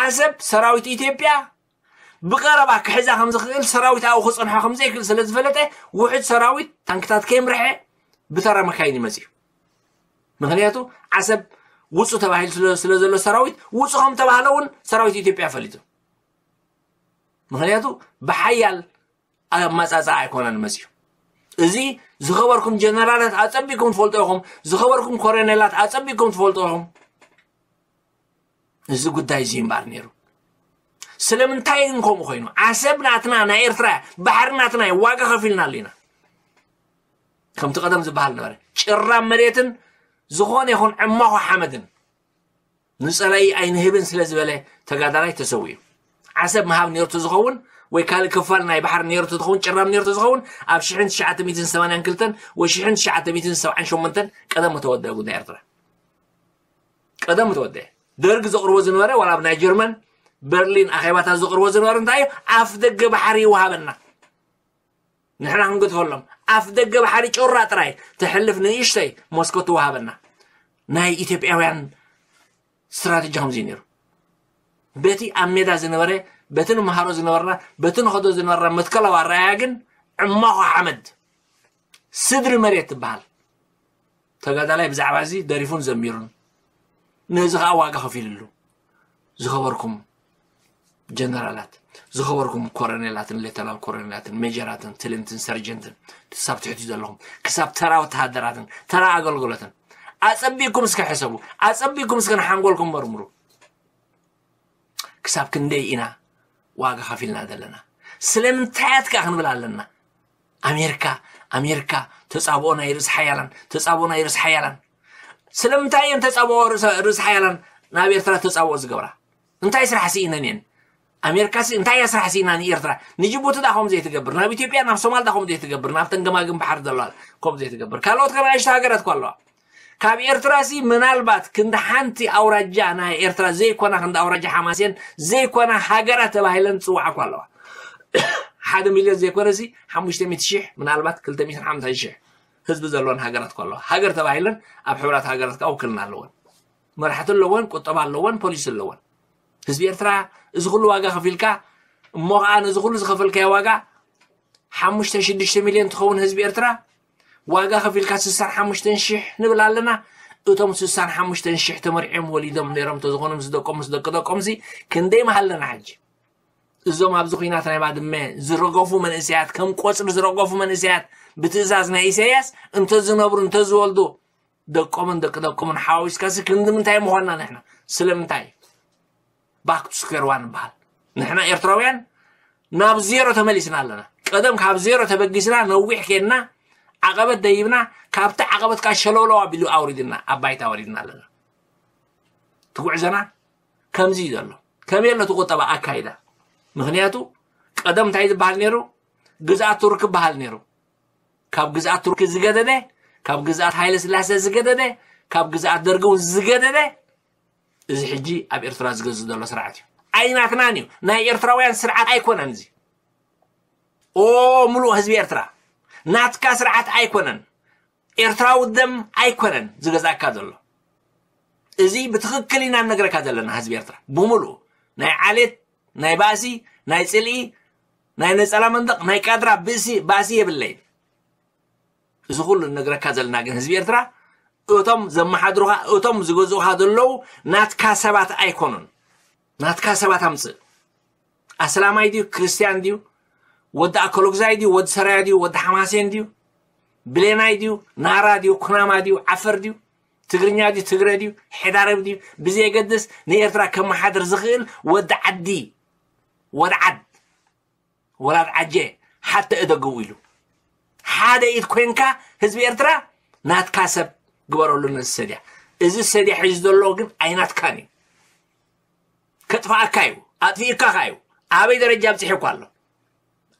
ዓሰብ ሰራዊት ኢትዮጵያ ብቀረባ ክሕዛ ከም ዝኽእል ሰራዊት ኣብኡ ክፀንሖ ከም ዘይክእል ስለ ዝፈለጠ ውሕድ ሰራዊት ታንክታት ከይምርሐ ብተራ መካይን ይመፅእ እዩ ምክንያቱ ዓሰብ ውፁ ተባሂሉ ስለ ዘሎ ሰራዊት ውፁ ከም ተባህለ እውን ሰራዊት ኢትዮጵያ ፈሊጡ ምክንያቱ ብሓያል ኣመጻጽኣ ኣይኮነን መጽዩ። እዚ ዝኸበርኩም ጀነራላት ኣጸቢኩም ትፈልጡ ኢኹም። ዝኸበርኩም ኮረኔላት ኣጸቢኩም ትፈልጡ ኢኹም። እዚ ጉዳይ እዚ እምበኣር ነይሩ። ስለምንታይ ግን ከምኡ ኮይኑ? ዓሰብ ናትና ናይ ኤርትራ እያ፣ ባሕሪ ናትና እዩ፣ ዋጋ ከፊልናሉ ኢና። ከምቲ ቀደም ዝበሃል ነበረ፣ ጭራም መሬትን ዝኾነ ይኹን ዕማኾ ሓመድን ንጸላኢ ኣይንህብን ስለ ዝበለ ተጋዳላይ ተሰዊኡ። ዓሰብ ምሃብ ነይሩ ዝኸውን ወይ ካልእ ክፋል ናይ ባሕሪ ነይሩ ዝኸውን፣ ጭራም ነይሩ ዝኸውን፣ ኣብ ሽሕን ትሽዓተ ሚእትን ሰማንያን ክልተን ወይ ሽሕን ትሽዓተ ሚእትን ሰብዓን ሸሞንተን ቀደም ተወደአ ጉዳይ ኤርትራ። ቀደም ተወደአ። ደርግ ዘቕርቦ ዝነበረ ዋላ ኣብ ናይ ጀርመን በርሊን ኣኼባታት ዘቕርቦ ዝነበረ እንታይ እዩ? ኣፍ ደገ ባሕሪ ይወሃበና። ንሕና ክንገድፈሎም። ኣፍ ደገ ባሕሪ ጮራ ጥራይ ተሕልፍ ንእሽተይ ሞስኮ ትወሃበና። ናይ ኢትዮጵያውያን ስትራተጂ ከምዚ ነይሩ። በቲ ኣብ ሜዳ ዝነበረ፣ በቲ ንመሃሮ ዝነበርና፣ በቲ ንኸዶ ዝነበርና መትከላዊ ኣረኣያ ግን ዕማኾ ሓመድ ስድሪ መሬት ትበሃል። ተጋዳላይ ብዛዕባ እዚ ደሪፉን ዘሚሩን ነዚ ኸኣ ዋጋ ከፊልሉ። ዝኸበርኩም ጀነራላት፣ ዝኸበርኩም ኮረኔላትን ሌተናል ኮረኔላትን ሜጀራትን ትልንትን ሰርጀንትን ክሳብ ትሕቲ ዘለኹም፣ ክሳብ ተራ ወተሃደራትን ተራ ኣገልግሎትን ኣጸቢቅኩም እስከ ሕሰቡ። ኣጸቢቅኩም እስከ ንሓንጎልኩም መርምሩ። ክሳብ ክንደይ ኢና ዋጋ ከፊልና ዘለና? ስለምንታይ ኣትካ ክንብል ኣለና? ኣሜሪካ ኣሜሪካ ተጻብኦ ናይ ርእሲ ሓያላን ተጻብኦ ናይ ርእሲ ሓያላን። ስለምንታይ እየን ተጻብኦ ርእሲ ሓያላን ናብ ኤርትራ ተጻብኦ ዝገብራ? እንታይ ስራሕ ስኢነን እየን? ኣሜሪካ ሲ እንታይ እያ ስራሕ ስኢና ንኤርትራ? ንጅቡቲ ዳ ከም ዘይትገብር፣ ናብ ኢትዮጵያ ናብ ሶማል ዳ ከም ዘይትገብር፣ ናብተን ገማግም ባሕሪ ዘለዋ ከም ዘይትገብር፣ ካልኦት ከናእሽተ ሃገራት እኳ ኣለዋ። ካብ ኤርትራ ሲ ምናልባት ክንዲ ሓንቲ ኣውራጃ ናይ ኤርትራ ዘይኮና ክንዲ ኣውራጃ ሓማሴን ዘይኮና ሃገራት ተባሂለን ዝጽውዓ እኳ ኣለዋ። ሓደ ሚልዮን ዘይኮነ ሲ ሓሙሽተ ሚእቲ ሺሕ ምናልባት ክልተ ሚእትን ሓምሳን ሺሕ ህዝቢ ዘለወን ሃገራት እኳ ኣለዋ። ሃገር ተባሂለን ኣብ ሕብራት ሃገራት ከዓ ውክልና ኣለወን። መራሕቲ ኣለወን፣ ቁጠባ ኣለወን፣ ፖሊሲ ኣለወን። ህዝቢ ኤርትራ እዚ ኩሉ ዋጋ ከፊልካ እሞ ከዓ ነዚ ኩሉ ዝኸፈልካዮ ዋጋ ሓሙሽተ ሽዱሽተ ሚልዮን ትኸውን ህዝቢ ኤርትራ ዋጋ ከፊልካ ስሳን ሓሙሽተን ሽሕ ንብል ኣለና። እቶም ስሳን ሓሙሽተን ሽሕ ተመርዕዮም ወሊዶም ነይሮም ተዝኾኑ ምስ ደቆም ምስ ደቂ ደቆምሲ ክንደይ ምሃለና ሕጂ? እዞም ኣብዚ ኹናት ናይ ባድመ ዝረገፉ መንእሰያት ከም ቆጽሊ ዝረገፉ መንእሰያት ብትእዛዝ ናይ ኢሳያስ እንተዝነብሩ እንተዝወልዱ ደቆምን ደቂ ደቆምን ሓዋዊስካሲ ክንዲ ምንታይ ምኾንና ንሕና? ስለምንታይ? ባክ ቱ ስኩዌር ዋን ንበሃል። ንሕና ኤርትራውያን ናብ ዜሮ ተመሊስና ኣለና። ቀደም ካብ ዜሮ ተበጊስና ነዊሕ ኬድና ዓቐበት ደይብና ካብቲ ዓቐበት ከዓ ሸለውለው ኣቢሉ ኣውሪድና ኣብ ባይታ ኣውሪድና ኣለና። ትጉዕዘና ከምዚ እዩ ዘሎ። ከመይ ኣሎ እቲ ቁጠባ ኣካይዳ? ምኽንያቱ ቀደም እንታይ ዝበሃል ነይሩ? ግዝኣት ቱርኪ በሃል ነይሩ። ካብ ግዝኣት ቱርኪ ዝገደደ፣ ካብ ግዝኣት ሃይለ ስላሴ ዝገደደ፣ ካብ ግዝኣት ደርጊ እውን ዝገደደ እዚ ሕጂ ኣብ ኤርትራ ዝገዝእ ዘሎ ስርዓት እዩ። ኣይናትናን እዩ። ናይ ኤርትራውያን ስርዓት ኣይኮነን እዚ። ኦ ሙሉእ ህዝቢ ኤርትራ ናትካ ስርዓት ኣይኮነን። ኤርትራዊ ደም ኣይኮነን ዝገዝኣካ ዘሎ። እዚ ብትኽክል ኢና ንነግረካ ዘለና ህዝቢ ኤርትራ ብሙሉእ ናይ ዓሌት ናይ ባእሲ ናይ ጽልኢ ናይ ነጸላ መንደቕ ናይ ቃድራ ብእሲ ባእሲ የብለይን። እዚ ኩሉ ንነግረካ ዘለና ግን ህዝቢ ኤርትራ እቶም ዘመሓድሩኻ እቶም ዝገዝኡኻ ዘለዉ ናትካ ሰባት ኣይኮኑን። ናትካ ሰባት ኣምጽእ። ኣስላማይ ድዩ ክርስትያን ድዩ ወዲ ኣከሎግዛይ ድዩ ወዲ ሰራያ ድዩ ወዲ ሓማሴን ድዩ ብሌናይ ድዩ ናራ ድዩ ኩናማ ድዩ ዓፈር ድዩ ትግርኛ ድዩ ትግረ ድዩ ሕዳርብ ድዩ ብዘየገድስ ንኤርትራ ከመሓድር ዝኽእል ወዲ ዓዲ ወዲ ዓድ ወላድ ዓጀ ሓተ እደግቡ ኢሉ ሓደ ኢድ ኮንካ ህዝቢ ኤርትራ ናትካ ሰብ ግበረሉ ነዚ ሰድያ። እዚ ሰድያ ሒዙ ዘሎ ግን ኣይናትካን እዩ። ከጥፍኣካ እዩ ኣጥፊእካ ከ እዩ። ኣበይ ደረጃ ኣብፅሑ እኳ ኣሎ?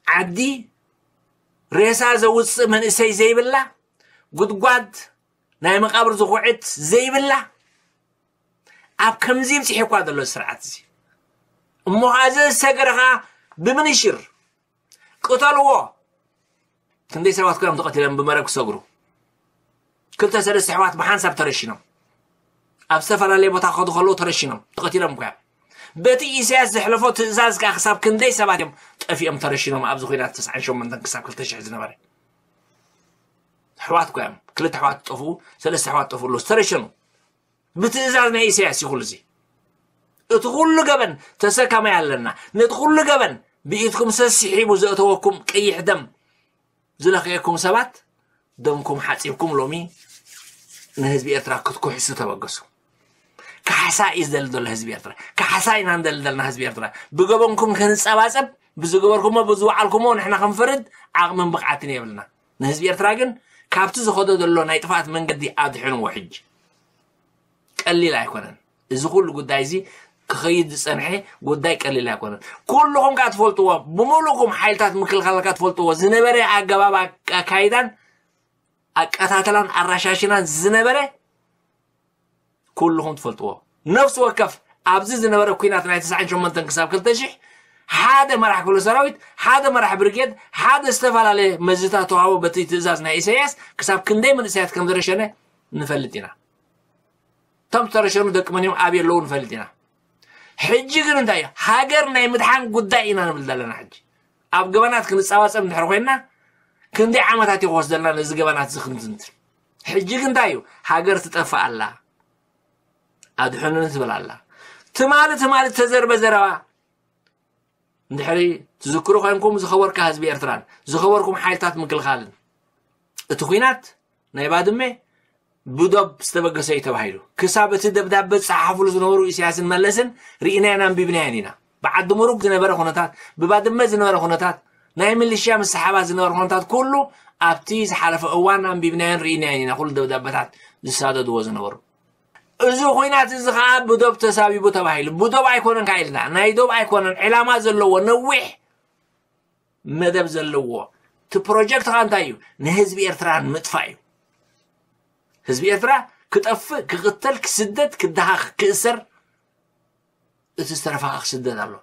ዓዲ ሬሳ ዘውፅእ መንእሰይ ዘይብላ፣ ጉድጓድ ናይ መቃብር ዝኹዕት ዘይብላ፣ ኣብ ከምዚ ይብፅሕ እኳ ዘሎ ስርዓት እዚ እሞ ከዓ እዚ ዝሰገረ ከዓ ብምንሽር ቅተልዎ። ክንደይ ሰባት ኮይኖም ተቐቲሎም ብመረብ ክሰግሩ? ክልተ ሰለስተ ኣሕዋት ብሓንሳብ ተረሺኖም ኣብ ዝተፈላለየ ቦታ ክኸዱ ከለዉ ተረሺኖም ተቐቲሎም እኮ እዮም። በቲ ኢሳያስ ዘሕለፎ ትእዛዝ ከዓ ክሳብ ክንደይ ሰባት እዮም ጠፊኦም ተረሺኖም ኣብዚ ኹናት ተስዓን ሸሞንተን ክሳብ ክልተ ሽሕ ዝነበረ ኣሕዋት እኮ እዮም። ክልተ ኣሕዋት ጠፍኡ፣ ሰለስተ ኣሕዋት ጠፍኡ ኣለዉ ዝተረሸኑ ብትእዛዝ ናይ ኢሳያስ እዩ ኩሉ እዚ። እቲ ኩሉ ገበን ተሰካማይ ኣለና። ነቲ ኩሉ ገበን ብኢድኩም ሰሲሒቡ ዘእተወኩም ቀይሕ ደም ዝለኸየኩም ሰባት፣ ደምኩም ሓፂብኩም ሎሚ ንህዝቢ ኤርትራ ክትኩሕሱ ተበገሱ። ካሕሳ እዩ ዝደሊ ዘሎ ህዝቢ ኤርትራ። ካሕሳ ኢና ንደሊ ዘለና ህዝቢ ኤርትራ። ብገበንኩም ክንጸባጸብ፣ ብዝገበርኩሞ ብዝወዓልኩሞ ንሕና ክንፈርድ ዓቕምን ብቕዓትን የብልና። ንህዝቢ ኤርትራ ግን ካብቲ ዝኸዶ ዘሎ ናይ ጥፍኣት መንገዲ ኣድሕንዎ። ሕጂ ቀሊል ኣይኮነን። እዚ ኩሉ ጉዳይ እዚ ክኸይድ ዝጸንሐ ጉዳይ ቀሊል ኣይኮነን። ኩልኹም ከኣ ትፈልጥዎ፣ ብምሉእኩም ሓይልታት ምክልኻል ከኣ ትፈልጥዎ ዝነበረ ኣገባብ ኣካይዳን ኣቀታትላን ኣራሻሽናን ዝነበረ ኩልኹም ትፈልጥዎ። ነፍሲ ወከፍ ኣብዚ ዝነበረ ኲናት ናይ ተስዓን ሸሞንተን ክሳብ ክልተ ሽሕ ሓደ መራሕ ክፍለ ሰራዊት፣ ሓደ መራሕ ብርጌድ፣ ሓደ ዝተፈላለየ መዝታት ተዋህቦ በቲ ትእዛዝ ናይ ኢሳያስ ክሳብ ክንደይ መንእሰያት ከም ዝረሸነ ንፈልጥ ኢና። እቶም ዝተረሸኑ ደቂ መን እዮም፣ ኣብ የለዉ ንፈልጥ ኢና። ሕጂ ግን እንታይ እዩ? ሃገር ናይ ምድሓን ጉዳይ ኢና ንብል ዘለና። ሕጂ ኣብ ገበናት ክንጸባጸብ እንድሕር ኮይንና ክንደይ ዓመታት እዩ ክወስደልና ነዚ ገበናት እዚ ክንትንትን? ሕጂ ግን እንታይ እዩ? ሃገር ትጠፍእ ኣላ። ኣድሕኑኒ ትብል ኣላ። ትማሊ ትማሊ ተዘርበ ዘረባ እንድሕሪ ትዝክሩ ኮይንኩም ዝኸበርካ ህዝቢ ኤርትራን ዝኸበርኩም ሓይልታት ምክልኻልን እቲ ኲናት ናይ ባድመ ብዶብ ዝተበገሰ እዩ ተባሂሉ። ክሳብ እቲ ደብዳበ ዝጸሓፉሉ ዝነበሩ ኢሳያስን መለስን ርኢናዮን ኣንቢብናዮን ኢና። ብዓዲ ሙሩግ ዝነበረ ኩነታት፣ ብባድመ ዝነበረ ኩነታት፣ ናይ ሚሊሽያ ምስ ሰሓባ ዝነበረ ኩነታት ኩሉ ኣብቲ ዝሓለፈ እዋን ኣንቢብናዮን ርኢናዮን ኢና። ኩሉ ደብዳበታት ዝሳደድዎ ዝነበሩ። እዚ ኹናት እዚ ኸኣ ብዶብ ተሳቢቡ ተባሂሉ። ብዶብ ኣይኮነን ከኣ ኢልና። ናይ ዶብ ኣይኮነን። ዕላማ ዘለዎ ነዊሕ መደብ ዘለዎ። እቲ ፕሮጀክት ኸኣ እንታይ እዩ? ንህዝቢ ኤርትራ ንምጥፋእ እዩ። ህዝቢ ኤርትራ ክጠፍእ፣ ክቕተል፣ ክስደድ፣ ክደሃኽ፣ ክእሰር፣ እቲ ዝተረፈ ኸኣ ክስደድ ኣሎ።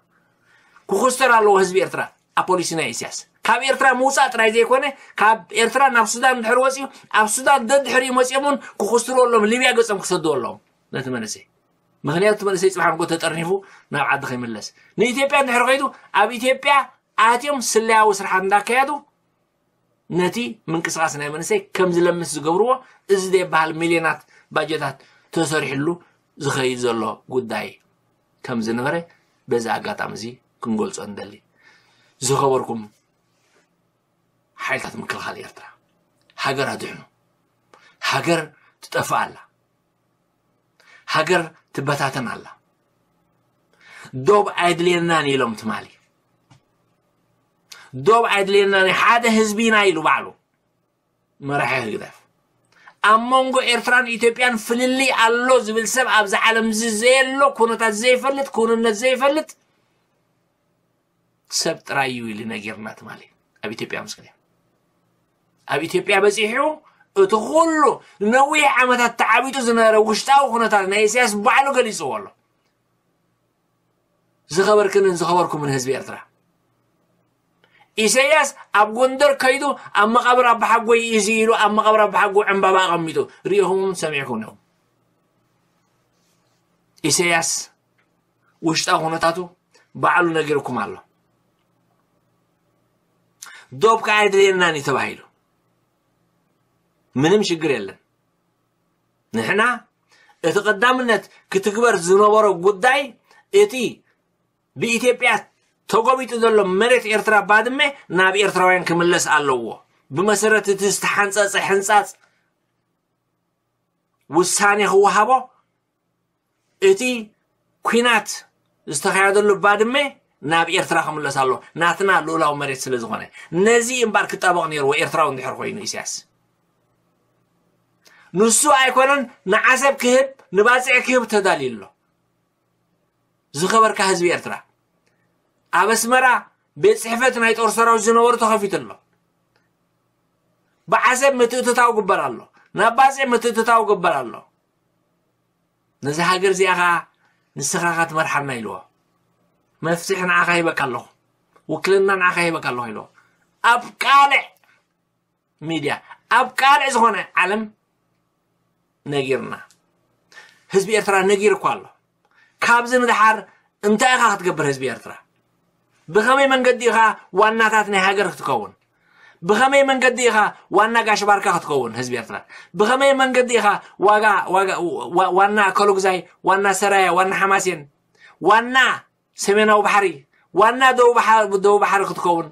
ክኹስተር ኣለዎ ህዝቢ ኤርትራ። ኣብ ፖሊሲ ናይ ኢሳያስ ካብ ኤርትራ ምውጻእ ጥራይ ዘይኮነ፣ ካብ ኤርትራ ናብ ሱዳን እንድሕር ወጺኡ፣ ኣብ ሱዳን ደድሕሪኡ መጺኦም እውን ክኹስትርዎ ኣለዎም። ሊብያ ገጾም ክሰድዎ ኣለዎም ነቲ መንእሰይ። ምኽንያቱ እቲ መንእሰይ ጽባሕ ንጎ ተጠርኒፉ ናብ ዓዲ ከይምለስ። ንኢትዮጵያ እንድሕር ከይዱ፣ ኣብ ኢትዮጵያ ኣትዮም ስለያዊ ስርሓት እንዳካየዱ ነቲ ምንቅስቃስ ናይ መንእሰይ ከም ዝለምስ ዝገብርዎ፣ እዚ ዘይበሃል ሚልዮናት ባጀታት ተሰሪሕሉ ዝኸይድ ዘሎ ጉዳይ ከም ዝነበረ በዚ ኣጋጣሚ እዚ ክንገልጾ ንደሊ። ዝኸበርኩም ሓይልታት ምክልኻል ኤርትራ፣ ሃገር ኣድሕኑ። ሃገር ትጠፍእ ኣላ። ሃገር ትበታተን ኣላ። ዶብ ኣየድልየናን ኢሎም ትማሊ። ዶብ ኣየድልየናን፣ ሓደ ህዝቢ ኢና ኢሉ ባዕሉ መራሒ ህግደፍ። ኣብ መንጎ ኤርትራን ኢትዮጵያን ፍልልይ ኣሎ ዝብል ሰብ ኣብዚ ዓለም እዚ ዘየሎ፣ ኩነታት ዘይፈልጥ፣ ክውንነት ዘይፈልጥ ሰብ ጥራይ እዩ ኢሉ ነጊርና ትማሊ። ኣብ ኢትዮጵያ ምስ ከደ፣ ኣብ ኢትዮጵያ በጺሑ እቲ ኩሉ ነዊሕ ዓመታት ተዓቢጡ ዝነበረ ውሽጣዊ ኩነታት ናይ ኢሳያስ ባዕሉ ገሊጽዎ ኣሎ። ዝኸበርክንን ዝኸበርኩምን ህዝቢ ኤርትራ፣ ኢሳያስ ኣብ ጎንደር ከይዱ ኣብ መቓብር ኣባሓጎይ እዩ እዚ ኢሉ ኣብ መቓብር ኣባሓጎ ዕምባባ ኣቐሚጡ ርኢኹም ሰሚዕኩም ኢኹም። ኢሳያስ ውሽጣዊ ኩነታቱ ባዕሉ ነጊርኩም ኣሎ። ዶብ ከኣ ኣይድልየናን እዩ ተባሂሉ። ምንም ሽግር የለን። ንሕና እቲ ቀዳምነት ክትግበር ዝነበሮ ጉዳይ እቲ ብኢትዮጵያ ተጎቢጡ ዘሎ መሬት ኤርትራ ባድመ ናብ ኤርትራውያን ክምለስ ኣለዎ። ብመሰረት እቲ ዝተሓንጸጸ ሕንጻጽ ውሳኔ ክወሃቦ እቲ ኲናት ዝተኻየደሉ ባድመ ናብ ኤርትራ ክምለስ ኣሎ፣ ናትና ልኡላዊ መሬት ስለ ዝኾነ። ነዚ እምባር ክጣበቕ ነይርዎ ኤርትራዊ እንድሕር ኮይኑ ኢሳያስ። ንሱ ኣይኮነን ንዓሰብ ክህብ፣ ንባጽዕ ክህብ ተዳልዩ ኣሎ። ዝኸበርካ ህዝቢ ኤርትራ፣ ኣብ ኣስመራ ቤት ጽሕፈት ናይ ጦር ሰራዊት ዝነበሩ ተኸፊቱ ኣሎ። ብዓሰብ ምትእትታው ግበር ኣሎ፣ ናብ ባጽዕ ምትእትታው ግበር ኣሎ። ነዚ ሃገር እዚኣ ኸኣ ንስኻ ኸኣ ትመርሓና ኢልዎ። መፍትሒ ንዓኻ ሂበካ ኣለኹ፣ ውክልና ንዓኻ ሂበካ ኣለኹ ኢልዎ። ኣብ ቃልዕ ሚድያ፣ ኣብ ቃልዕ ዝኾነ ዓለም ነጊርና። ህዝቢ ኤርትራ ነጊሩ እኳ ኣሎ። ካብዚ ንደሓር እንታይ ኢኻ ክትገብር ህዝቢ ኤርትራ? ብኸመይ መንገዲ ኢኻ ዋናታት ናይ ሃገር ክትከውን? ብኸመይ መንገዲ ኢኻ ዋና ጋሽ ባርካ ክትከውን ህዝቢ ኤርትራ? ብኸመይ መንገዲ ኢኻ ዋጋ፣ ዋጋ፣ ዋ-፣ ዋና ከሎግዛይ፣ ዋና ሰራያ፣ ዋና ሓማሴን፣ ዋና ሰሜናዊ ባሕሪ፣ ዋና ደቡብ ባሕሪ ክትከውን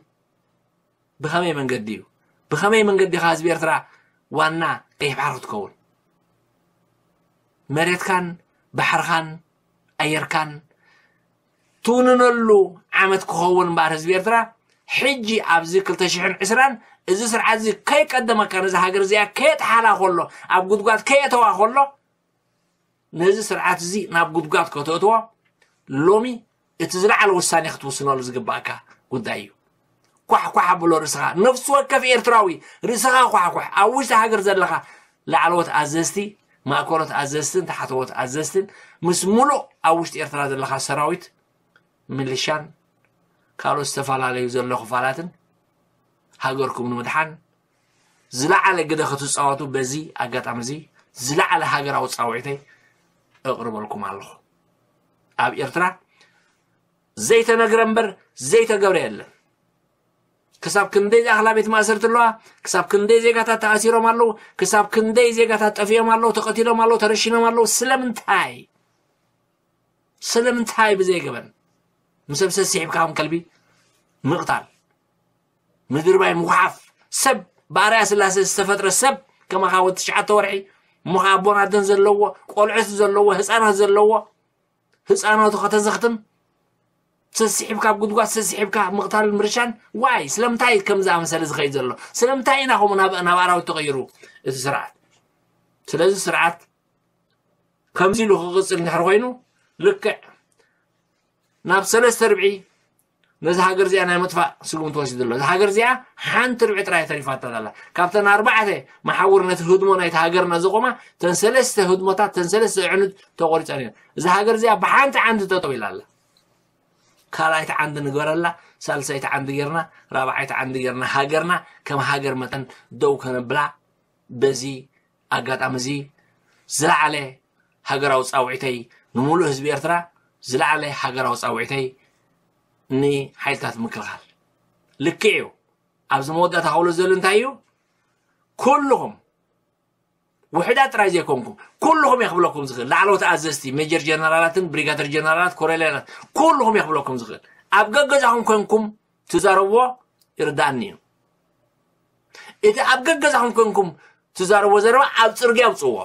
ብኸመይ መንገዲ እዩ? ብኸመይ መንገዲ ኢኻ ህዝቢ ኤርትራ ዋና ቀይሕ ባሕሪ ክትከውን? መሬትካን ባሕርኻን ኣየርካን ትውንነሉ ዓመት ክኸውን እምበኣር ህዝቢ ኤርትራ ሕጂ ኣብዚ ክልተ ሽሕን ዕስራን እዚ ስርዓት እዚ ከይቀደመካ ነዚ ሃገር እዚኣ ከየጥሓላ ከሎ ኣብ ጉድጓድ ከየእተዋ ከሎ ነዚ ስርዓት እዚ ናብ ጉድጓድ ከተእትዎ ሎሚ እቲ ዝለዓለ ውሳኔ ክትውስነሉ ዝግባእካ ጉዳይ እዩ። ኳሕኳሕ ኣብሎ ርእስኻ፣ ነፍሲ ወከፍ ኤርትራዊ ርእስኻ ኳሕኳሕ። ኣብ ውሽጢ ሃገር ዘለኻ ላዕለዎት ኣዘዝቲ፣ ማእከሎት ኣዘዝትን ታሕተዎት ኣዘዝትን ምስ ሙሉእ ኣብ ውሽጢ ኤርትራ ዘለኻ ሰራዊት፣ ሚሊሻን ካልኦት ዝተፈላለዩ ዘሎ ክፋላትን ሃገርኩም ንምድሓን ዝለዓለ ግደ ክትፃወቱ በዚ ኣጋጣሚ እዚ ዝለዓለ ሃገራዊ ፃውዒተይ እቕርበልኩም ኣለኹ። ኣብ ኤርትራ ዘይተነግረ እምበር ዘይተገብረ የለን። ክሳብ ክንደይ ዝኣኽላ ቤት ማእሰርቲ ኣለዋ፣ ክሳብ ክንደይ ዜጋታት ተኣሲሮም ኣለዉ፣ ክሳብ ክንደይ ዜጋታት ጠፊኦም ኣለዉ፣ ተቐቲሎም ኣለዉ፣ ተረሺኖም ኣለዉ። ስለምንታይ? ስለምንታይ ብዘይገበን ምስ ሰብ ሰሲሒብካ ከም ከልቢ ምቕታል፣ ምድርባይ፣ ምጉሓፍ፣ ሰብ ብኣርያ ስላሴ ዝተፈጥረ ሰብ ከማኻ ወዲ ትሽዓተ ወርሒ እሞ ኸዓ ኣቦን ኣደን ዘለዎ ቆልዑት ዘለዎ ህፃናት ዘለዎ ህፃናቱ ከተዘኽትም ሰሲሒብካ ኣብ ጉድጓድ ሰሲሒብካ ምቕታልን ምርሻን ዋይ ስለምንታይ ከም ዝኣመሰለ ዝኸይድ ዘሎ ስለምንታይ ኢና ከምኡ ናብ ኣራዊት ተቐይሩ እቲ ስርዓት ስለዚ ስርዓት ከምዚ ኢሉ ክቕፅል እንድሕር ኮይኑ ልክዕ ናብ ሰለስተ ርብዒ ነዚ ሃገር እዚኣ ናይ ምጥፋእ ስጉምቲ ወሲዱ ኣሎ። እዚ ሃገር እዚኣ ሓንቲ ርብዒ ጥራይ ተሪፋታ ዘላ። ካብተን ኣርባዕተ መሓውር ነቲ ህድሞ ናይቲ ሃገርና ዘቆማ ተን ሰለስተ ህድሞታት ተን ሰለስተ ኣዕኑድ ተቆሪፀን እየን። እዚ ሃገር እዚኣ ብሓንቲ ዓንዲ ጠጠው ኢላ ኣላ። ካልኣይቲ ዓንዲ ንግበረላ፣ ሳልሰይቲ ዓንዲ ጌርና፣ ራብዓይቲ ዓንዲ ጌርና ሃገርና ከም ሃገር መጠን ደው ከነብላ በዚ ኣጋጣሚ እዚ ዝለዓለ ሃገራዊ ፃውዒተይ ንምሉእ ህዝቢ ኤርትራ ዝለዓለ ሃገራዊ ፃውዒተይ ንሓይልታት ምክልኻል ልክዕ እዩ። ኣብዚ መወዳእታ ከብሎ ዘሎ እንታይ እዩ? ኩልኹም ውሕዳት ጥራይ ዘይኮንኩም ኩልኹም እየ ክብለኩም ዝኽእል ላዕለዎት ኣዘዝቲ ሜጀር ጀነራላትን ብሪጋደር ጀነራላት ኮሎኔላት ኩልኹም እየ ክብለኩም ዝኽእል ኣብ ገገዛኹም ኮንኩም ትዛረብዎ ይርዳእኒ እዩ። እቲ ኣብ ገገዛኹም ኮንኩም ትዛረብዎ ዘረባ ኣብ ፅርግያ ኣውፅዎ።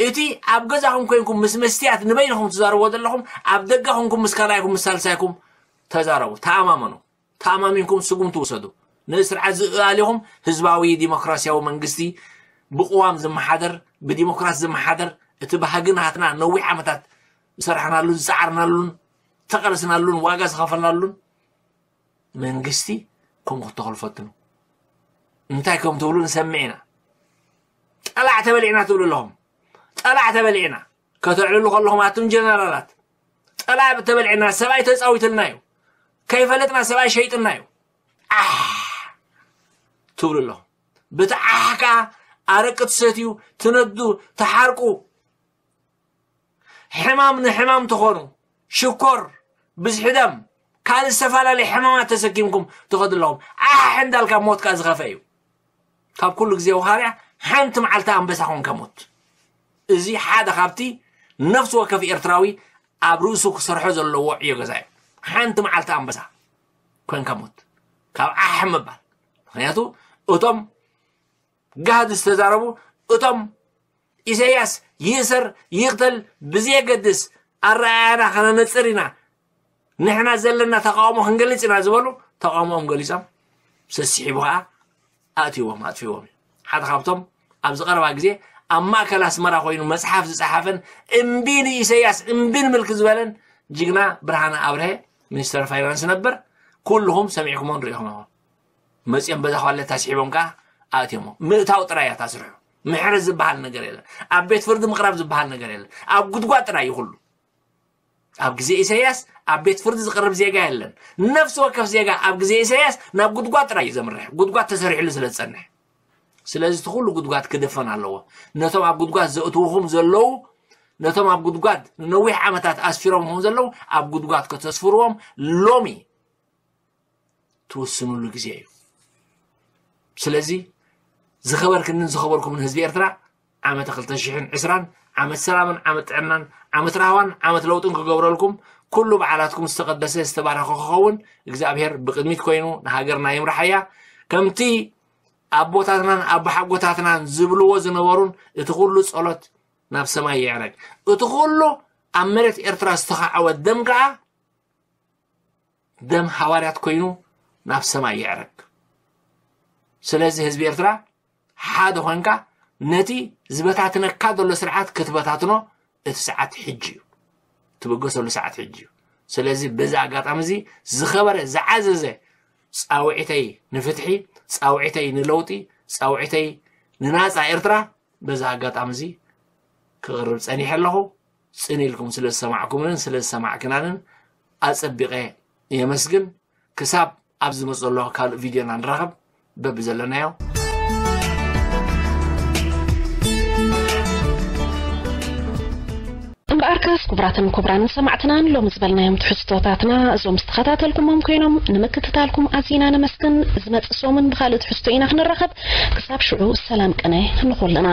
እቲ ኣብ ገዛኹም ኮንኩም ምስ መስትያት ንበይንኹም ትዛረብዎ ዘለኹም ኣብ ደገ ኮንኩም ምስ ካልኣይኩም ምስ ሳልሳይኩም ተዛረቡ። ተኣማመኑ። ተኣማሚንኩም ስጉምቲ ውሰዱ። ነዚ ስርዓት ዝእኣሊኹም ህዝባዊ ዲሞክራሲያዊ መንግስቲ ብቅዋም ዝመሓደር ብዲሞክራሲ ዝመሓደር እቲ ባህጊ ናትና ነዊሕ ዓመታት ዝሰራሕናሉን ዝፀዓርናሉን ዝተቐለስናሉን ዋጋ ዝኸፈልናሉን መንግስቲ ከም ክትተኽሉ ፈትኑ። እንታይ ከም ትብሉ ንሰምዕ ኢና። ጠላዕ ተበሊዕና ትብሉ ኣለኹም። ጠላዕ ተበሊዕና ከተዕልሉ ከለኹም ኣቱም ጀነራላት ጠላዕ ተበሊዕና ሰብኣይ ተፃዊትልና እዩ። ከይፈለጥና ሰብኣይ ሸይጥና እዩ። ኣሕ ትብሉ ኣለኹም። ብቲ ዓሕ ከዓ ኣረቂ ትሰትዩ ትነዱ ትሓርቁ ሕማም ንሕማም ትኾኑ ሽኮር ብዝሒ ደም ካልእ ዝተፈላለየ ሕማማት ተሰኪምኩም ትኸዱ ኣለኹም። ዓሕ እንዳልካ ሞት ከዓ ዝኸፈ እዩ። ካብ ኩሉ ግዜ ወኻርያ ሓንቲ መዓልቲ ኣንበሳ ኮንካ ሞት። እዚ ሓደ ካብቲ ነፍሲ ወከፍ ኤርትራዊ ኣብ ርእሱ ክሰርሖ ዘለዎ ዕዮ ገዛ እዩ። ሓንቲ መዓልቲ ኣንበሳ ኮንካ ሞት ካብ ዓሕ ምባል። ምክንያቱ እቶም ጋህዲ ዝተዛረቡ እቶም ኢሳያስ ይእሰር ይቕተል ብዘየገድስ ኣረኣያና ከነነፅር ኢና። ንሕና ዘለና ተቃውሞ ክንገልፅ ኢና ዝበሉ ተቃውሞኦም ገሊፆም ሰሲሒቡ ከዓ ኣእትዎም ኣጥፊዎም እዩ። ሓደ ካብቶም ኣብዚ ቀረባ ግዜ ኣብ ማእከል ኣስመራ ኮይኑ መፅሓፍ ዝፀሓፈን እምቢ ንኢሳያስ እምቢ ንምልኪ ዝበለን ጅግና ብርሃነ ኣብርሀ ሚኒስተር ፋይናንስ ነበር። ኩልኹም ሰሚዕኩሞን ርኢኹሞ መፅኦም በዛ ኳለታ ስሒቦም ከዓ ኣእትዮሞ። ምእታው ጥራይ እያ ታስርሑ። ምሕረት ዝበሃል ነገር የለን። ኣብ ቤት ፍርዲ ምቕራብ ዝበሃል ነገር የለን። ኣብ ጉድጓድ ጥራይ እዩ ኩሉ። ኣብ ግዜ ኢሳያስ ኣብ ቤት ፍርዲ ዝቕርብ ዜጋ የለን። ነፍሲ ወከፍ ዜጋ ኣብ ግዜ ኢሳያስ ናብ ጉድጓድ ጥራይ እዩ ዘምርሕ። ጉድጓድ ተሰሪሕሉ ስለ ዝጸንሕ። ስለዚ እቲ ኩሉ ጉድጓድ ክድፈን ኣለዎ። ነቶም ኣብ ጉድጓድ ዘእትውኹም ዘለዉ ነቶም ኣብ ጉድጓድ ንነዊሕ ዓመታት ኣስፊሮምኹም ዘለዉ ኣብ ጉድጓድ ከተስፍርዎም ሎሚ ትውስኑሉ ግዜ እዩ። ስለዚ ዝኸበርክንን ዝኸበርኩምን ህዝቢ ኤርትራ ዓመተ ክልተ ሽሕን ዕስራን ዓመት ሰላምን ዓመት ጥዕናን ዓመት ራህዋን ዓመት ለውጥን ክገብረልኩም፣ ኩሉ በዓላትኩም ዝተቐደሰ ዝተባረኸ ክኸውን እግዚኣብሔር ብቕድሚት ኮይኑ ንሃገርና ይምርሓያ። ከምቲ ኣቦታትናን ኣቦሓጎታትናን ዝብልዎ ዝነበሩን እቲ ኩሉ ጸሎት ናብ ሰማይ ይዕረግ። እቲ ኩሉ ኣብ መሬት ኤርትራ ዝተኻዕወ ደም ከኣ ደም ሃዋርያት ኮይኑ ናብ ሰማይ ይዕረግ። ስለዚ ህዝቢ ኤርትራ ሓደ ኮንካ ነቲ ዝበታትነካ ዘሎ ስርዓት ክትበታትኖ እቲ ሰዓት ሕጂ እዩ። ትብገሰሉ ሰዓት ሕጂ እዩ። ስለዚ በዚ ኣጋጣሚ እዚ ዝኸበረ ዝዓዘዘ ጻውዒተይ ንፍትሒ፣ ጻውዒተይ ንለውጢ፣ ጻውዒተይ ንናጻ ኤርትራ በዚ ኣጋጣሚ እዚ ክቕርብ ጸኒሐ ኣለኹ። ጽን ኢልኩም ስለ ዝሰማዕኩምንን ስለ ዝሰማዕክናንን ኣጸቢቐ የመስግን። ክሳብ ኣብ ዝመጽእ ዘሎ ካልእ ቪድዮና ንራኸብ። በብዘለናዮ እምበኣርከስ ክቡራትን ክቡራንን ሰማዕትናን ሎሚ ዝበልናዮም ትሕዝቶታትና እዞም ዝተኸታተልኩሞም ኮይኖም ንምክትታልኩም ኣዚና ነመስግን። ዝመጽእ ሰሙን ብኻልእ ትሕዝቶ ኢና ክንራኸብ። ክሳብ ሽዑ ሰላም ቅነ ንኹልና።